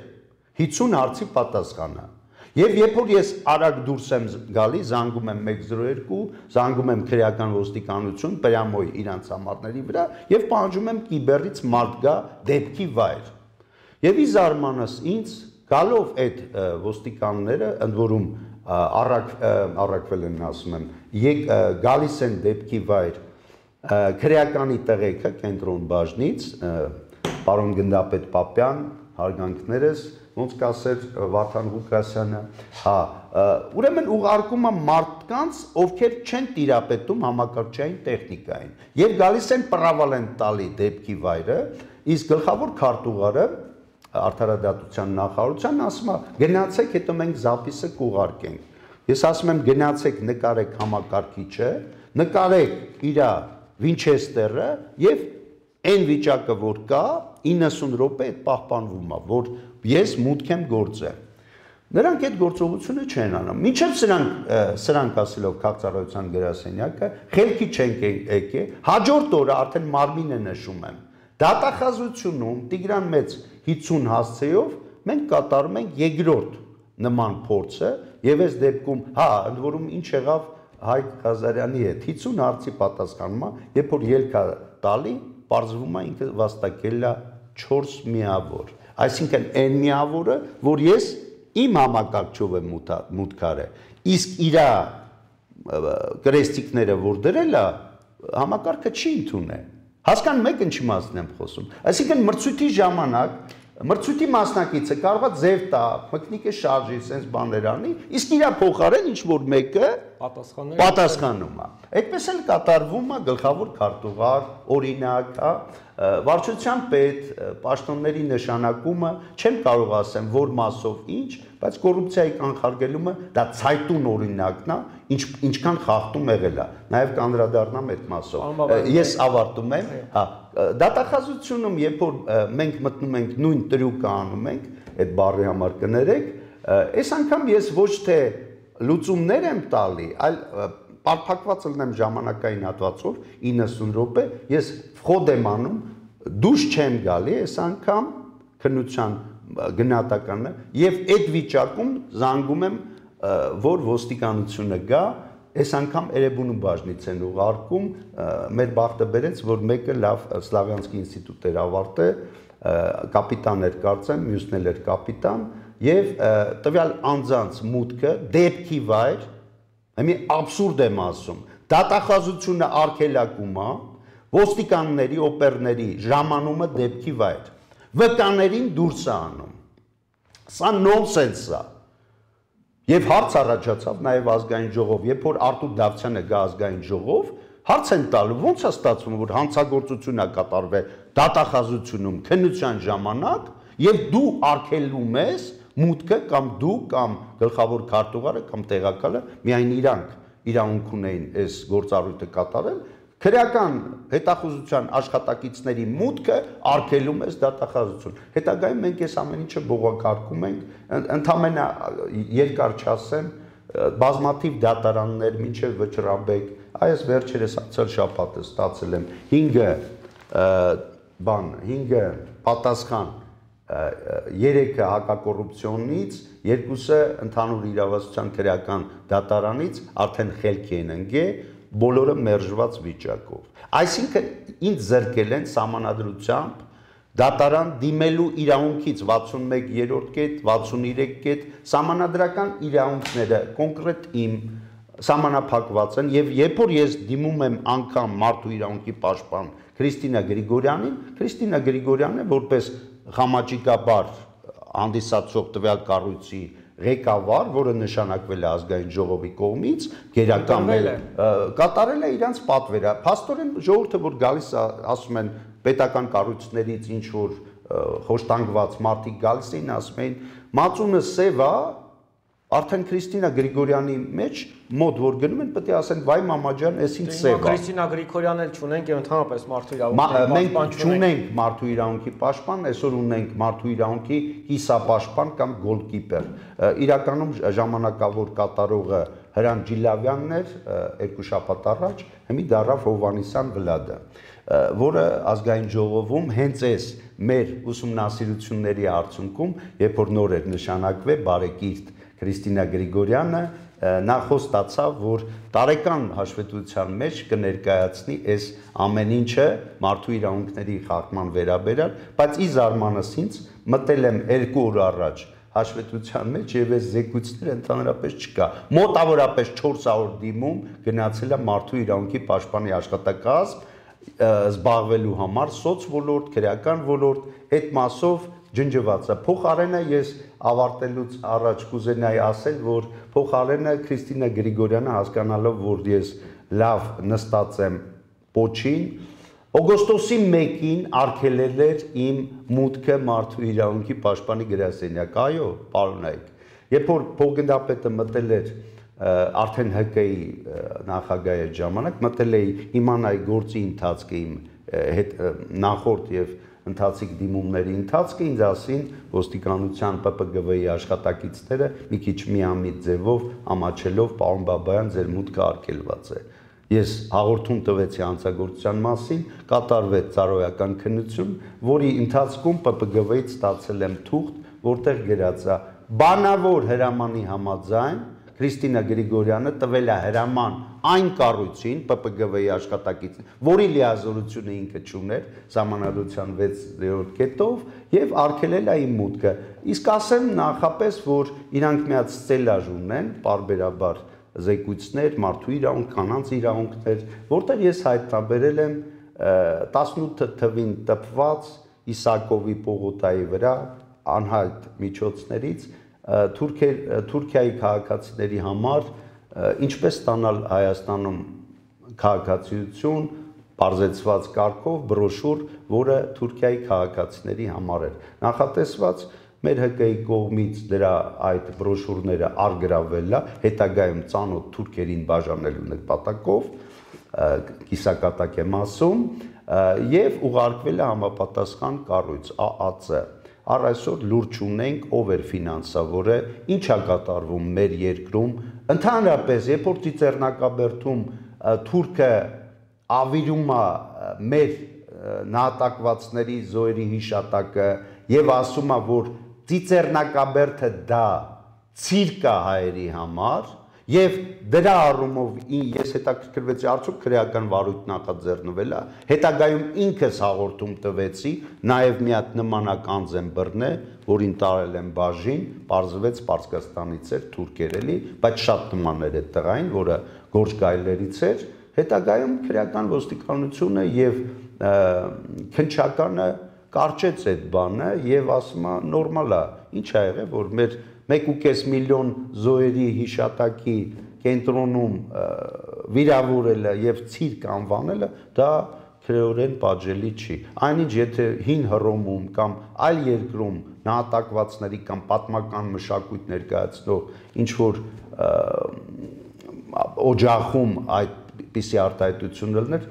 հինգ հարցի պատասխանը։ Եվ երբ որ ես արագ դուրս եմ գալի, զանգում եմ մեկ զրո երկու, զանգում եմ քրեական ոստիկանություն, պրյամոյ իրանց համարների վրա եւ պահանջում եմ կիբերից մարդ գա դեպքի վայր։ Եվ ի զարմանս ինձ գալով այդ ոստիկանները, ընդ որում առակ առակվել են ասում եմ, եկ գալիս են դեպքի վայր քրեականի տեղեքը կենտրոն բաժնից, պարոն գնդապետ Պապյան, հարգանքներս, ոնց կասեր Վարդան Ղուկասյանը, հա, ուրեմն ուղարկում է մարդկանց, ովքեր չեն տիրապետում համակարգչային տեխնիկային, եւ գալիս են պրավալ են տալի դեպքի վայրը, իսկ գլխավոր քարտուղարը Արդարադատության նախարարության ասում է գնացեք, հետո մենք զապիսը կուղարկենք։ Ես ասում եմ գնացեք, նկարեք համակարգիչը, նկարեք իր Վինչեսթերը եւ այն վիճակը, որ կա, իննսուն րոպե այդ պահպանվում է, որ ես մուտք եմ գործել։ Նրանք այդ գործողությունը չեն անում։ Մինչև սրանք սրանք ասելով քաղաքացիության գրասենյակը, խելքի չենք եկել, հաջորդ օրը արդեն մարմինը նշում եմ։ Դատախազությունում Տիգրան Մեծ հինգ հասցեով մենք կատարում ենք երկրորդ նման փորձը եւ այս դեպքում, հա, ընդ որում ինչ եղավ Հայկ Ղազարյանի հետ հինգ հարցի պատասխանումը, երբ որ ելք է տալի, պարզվում է ինքը վաստակել է չորս միավոր։ Այսինքն այն միավորը, որ ես իմ համակարգչով եմ մուտք արել, իսկ իր կրեստիկները որ դրել է, համակարգը չի ընդունել։ Հասկանում եք ինչ իմաստն եմ խոսում։ Այսինքն մրցույթի ժամանակ մրցույթի մասնակիցը կարող է ձև տա, մկնիկը շարժի, sense բաներ անի, իսկ իր փոխարեն ինչ որ մեկը պատասխանում է։ Այդպես էլ կատարվում է գլխավոր քարտուղար, օրինակ, հա, վարչության պետ, պաշտոնների նշանակումը, չեմ կարող ասեմ, որ մասով ինչ, բայց կոռուպցիայի կանխարգելումը դա ցայտուն օրինակն է, ինչ ինչքան խախտում եղել է։ Նաև կանդրադառնամ այդ մասով։ Ես ավարտում եմ, հա, դատախազությունում, երբ որ մենք մտնում ենք նույն տրյուկը անում ենք, այդ բառի համար կներեք, այս անգամ ես ոչ թե լուծումներ եմ տալի, այլ պարփակված լինեմ ժամանակային հատվածով իննսուն րոպե, ես խոդ եմ անում, դուրս չեմ գալի այս անգամ քննության գնահատականը եւ այդ վիճակում զանգում եմ, որ ոստիկանությունը գա, այս անգամ Էրեբունու բաժնից են ուղարկում, մեր բախտը բերեց, որ մեկը լավ Սլավյանսկի ինստիտուտ էր ավարտել, կապիտան էր կարծեմ, մյուսն էլ էր կապիտան, եւ տվյալ անձանց մուտքը դեպքի վայր, մի աբսուրդ եմ ասում, դատախազությունը արգելակում է, ոստիկանների, օպերների ժամանումը դեպքի վայր, վկաներին դուրս է անում, սա նոնսենս է, եւ հարց առաջացավ նաեւ ազգային ժողով, երբ որ Արտուր Դավթյանը գա ազգային ժողով, հարց են տալու, ոնց է ստացվում, որ հանցագործություն է կատարվել դատախազությունում քննության ժամանակ, եւ դու արգելում ես մուտքը կամ դու կամ գլխավոր քարտուղարը կամ տեղակալը միայն իրանք իրավունք ունեին այս գործառույթը կատարել, քրեական հետախուզության աշխատակիցների մուտքը արգելում է դատախազություն։ Հետագայում մենք այս ամեն ինչը բողոքարկում ենք, ընդհանրապես երկար չասեմ, բազմաթիվ դատարաններ, մինչև Վճռաբեկ, այս վերջերս անցյալ շաբաթը ստացել եմ հինգ բան, հինգ պատասխան, երեքը հակակոռուպցիոնից, երկուսը ընդհանուր իրավասության քրեական դատարանից արդեն խելքի են ընկել, բոլորը մերժված վիճակով։ Այսինքն ինձ զրկել են սահմանադրությամբ դատարան դիմելու իրավունքից վաթսունմեկ կետ, վաթսուներեք կետ, սահմանադրական իրավունքները կոնկրետ իմ սահմանափակված են եւ երբ որ ես դիմում եմ անգամ մարդու իրավունքի պաշտպան Քրիստինա Գրիգորյանին, Քրիստինա Գրիգորյանը որպես խամաճիկաբար հանդիսացող տվյալ կառույցի ղեկավար, որը նշանակվել է ազգային ժողովի կողմից, գերական կատարել է իրանց պատվերը։ Փաստորեն ժողովուրդը, որ գալիս ասում են պետական կառույցներից ինչ որ խոշտանգված մարդիկ գալիս էին, ասում էին մածունը սև է, արդեն Քրիստինա Գրիգորյանի մեջ մոտ որ գնում են, պետք է ասեն վայ մամա ջան, էս ինչ սև է։ Քրիստինա Գրիգորյանն էլ չունենք, ընդհանրապես մարդու իրավունքի մենք չունենք մարդու իրավունքի պաշտպան, այսօր ունենք մարդու իրավունքի կիսապաշտպան կամ գոլկիպեր։ Իրականում ժամանակավոր կատարողը Հրան Ջիլավյանն էր երկու շաբաթ առաջ, հիմի դառավ Հովհաննիսյան Վլադը, որը ազգային ժողովում հենց այս մեր ուսումնասիրությունների արդյունքում, երբ որ նոր էր նշանակվել բարեկիրթ Քրիստինա Գրիգորյանը, նա խոստացավ, որ տարեկան հաշվետվության մեջ կներկայացնի այս ամեն ինչը մարդու իրավունքների խախտման վերաբերյալ, բայց ի զարմանս ինձ մտել եմ երկու օր առաջ հաշվետվության մեջ եւ այս զեկույցները ընդհանրապես չկա։ Մոտավորապես չորս հարյուր դիմում գնացել է մարդու իրավունքի պաշտպանի աշխատակազմ զբաղվելու համար սոց ոլորտ, քրեական ոլորտ, այդ մասով ջնջված է։ Փոխարենը ես ավարտելուց առաջ կուզենայի ասել, որ փոխարենը Քրիստինա Գրիգորյանը հասկանալով, որ ես լավ նստած եմ պոչին, օգոստոսի մեկին արգելել էր իմ մուտքը մարդու իրավունքի պաշտպանի գրասենյակ։ Այո, պարոնայք, երբ որ փոխգնդապետը մտել էր արդեն Հ Կ ի նախագահի ժամանակ, մտել էի իմանայի գործի ընթացքը իմ հետ նախորդ եւ ընթացիկ դիմումների ընթացքը, ինձ ասին ոստիկանության Պ Պ Գ V-ի աշխատակիցները մի քիչ միամիտ ձևով ամաչելով, պարոն Բաբայան, ձեր մուտքը արգելված է։ Ես հաղորդում տվեցի հանցագործության մասին, կատարվեց ծառայական քննություն, որի ընթացքում Պ Պ Գ V-ից ստացել եմ թուղթ, որտեղ գրած է բանավոր հրամանի համաձայն Քրիստինա Գրիգորյանը տվել է հրաման այն կառույցին Պ Պ Գ V-ի աշխատակիցին, որի լիազորությունը ինքը չուներ Սահմանադրության վեցերորդ կետով եւ արգելել է իմ մուտքը։ Իսկ ասեմ նախապես, որ իրանք միած ստելաժ ունեն, պարբերաբար զեկույցներ, մարդու իրավունք, կանանց իրավունքներ, որտեղ ես հայտնաբերել եմ տասնութ թվին տպված Իսակովի պողոտայի վրա անհայտ միջոցներից Թուրքիայի քաղաքացիների համար ինչպես ստանալ Հայաստանում քաղաքացիություն բարձեցված կարգով բրոշուր, որը Թուրքիայի քաղաքացիների համար էր նախատեսված, մեր Հ Կ ի կողմից դրա այդ բրոշուրները արգրավել է, հետագայում ծանոթ թուրքերին բաժանելու նպատակով, կիսակատակ եմ ասում, եւ ուղարկվել է համապատասխան կառույց Ա Ա Ց։ Առ այսօր լուրջ ունենք, ով էր ֆինանսավորը, ինչ է կատարվում մեր երկրում, ընդհանրապես, երբ որ Ծիծեռնակաբերդում թուրքը ավիրում է մեր նահատակվածների զոհերի հիշատակը եւ ասում է, որ Ծիծեռնակաբերդը դա ցիրկ է հայերի համար, եւ դրա առումով ես հետաքրքրվեցի արդյոք քրեական վարույթ նախաձեռնվել է, հետագայում ինքս հաղորդում տվեցի, նաեւ մի հատ նմանականձ եմ բռնել, որին տարել եմ բաժին, պարզվեց Պարսկաստանից էր, թուրքեր էլի, բայց շատ նման էր այդ տղային, որը Գորջ գայլերից էր, հետագայում քրեական ոստիկանությունը եւ քնչականը կարճեց այդ բանը եւ ասում է նորմալ է, ինչ ա եղել, որ մեր մեկ ու կես միլիոն զոհերի հիշատակի կենտրոնում վիրավորելը եւ ցիրկ անվանելը դա քրեորեն պատժելի չի։ Այնինչ եթե հին Հռոմում կամ այլ երկրում նահատակվածների կամ պատմական մշակույթ ներկայացնող ինչ որ օջախում այդ պիսի արտահայտություն լիներ,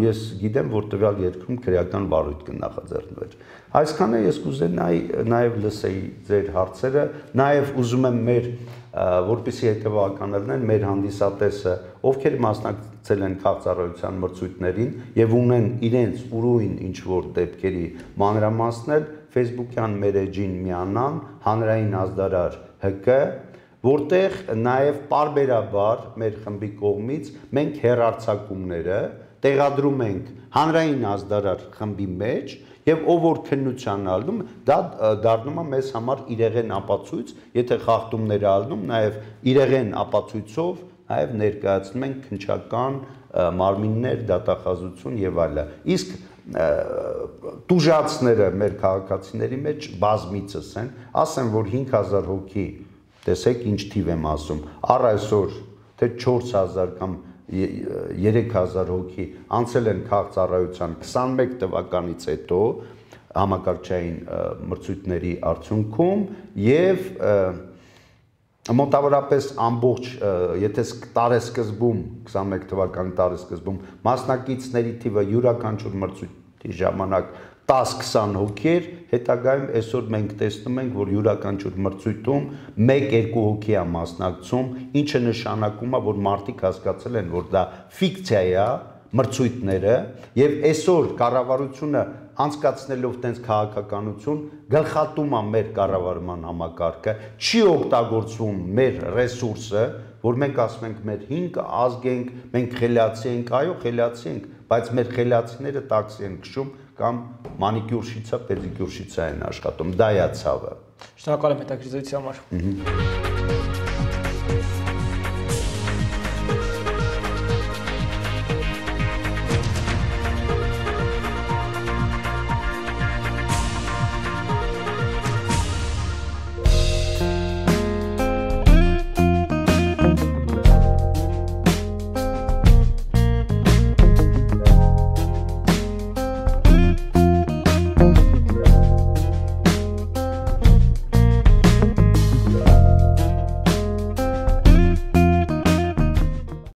ես գիտեմ, որ տվյալ երկրում քրեական վարույթ կնախաձեռնվեր։ Այսքանը ես կուզենայի նաև լսեի ձեր հարցերը, նաև ուզում եմ մեր, որպեսզի հետևական լինեն, մեր հանդիսատեսը, ովքեր մասնակցել են քաղաքացիության մրցույթներին եւ ունեն իրենց ուրույն ինչ որ դեպքերի մանրամասնել, Facebook-յան մեր էջին միանան, հանրային ազդարար Հ Կ, որտեղ նաև պարբերաբար մեր խմբի կողմից մենք հեռարձակումները տեղադրում ենք հանրային ազդարար խմբի մեջ եւ ով որ քննության ալնում, դա դառնում է մեզ համար իրեղեն ապացույց, եթե խախտումներ ալնում, նաև իրեղեն ապացույցով նաև ներկայացնում ենք քնչական մարմիններ, դատախազություն եւ այլը։ Իսկ տուժածները մեր քաղաքացիների մեջ բազմիցս են, ասեմ, որ հինգ հազար հոգի, տեսեք ինչ թիվ եմ ասում, առ այսօր թե չորս հազար կամ երեք հազար հոգի անցել են քաղաքծառայության քսանմեկ թվականից հետո համակարգչային մրցույթների արդյունքում եւ մոտավորապես ամբողջ, եթե տարեսկզբում քսանմեկ թվականի տարեսկզբում մասնակիցների թիվը յուրաքանչյուր մրցույթի ժամանակ տաս-քսան հոգի էր, հետագայում այսօր մենք տեսնում ենք, որ յուրաքանչյուր մրցույթում մեկ-երկու հոգի է մասնակցում, ինչը նշանակում է, որ մարդիկ հասկացել են, որ դա ֆիկցիա է, մրցույթները, եւ այսօր կառավարությունը անցկացնելով տենց քաղաքականություն գլխատում է մեր կառավարման համակարգը, չի օգտագործվում մեր ռեսուրսը, որ մենք ասում ենք մեր հինգ ազգ ենք, մենք խելացի ենք, այո, խելացի ենք, բայց մեր խելացիները տաքսի են քշում կամ մանիկյուր շիցա, պեդիկյուր շիցա են աշխատում, դա է ցավը։ Շնորհակալ եմ հետաքրքրության համար։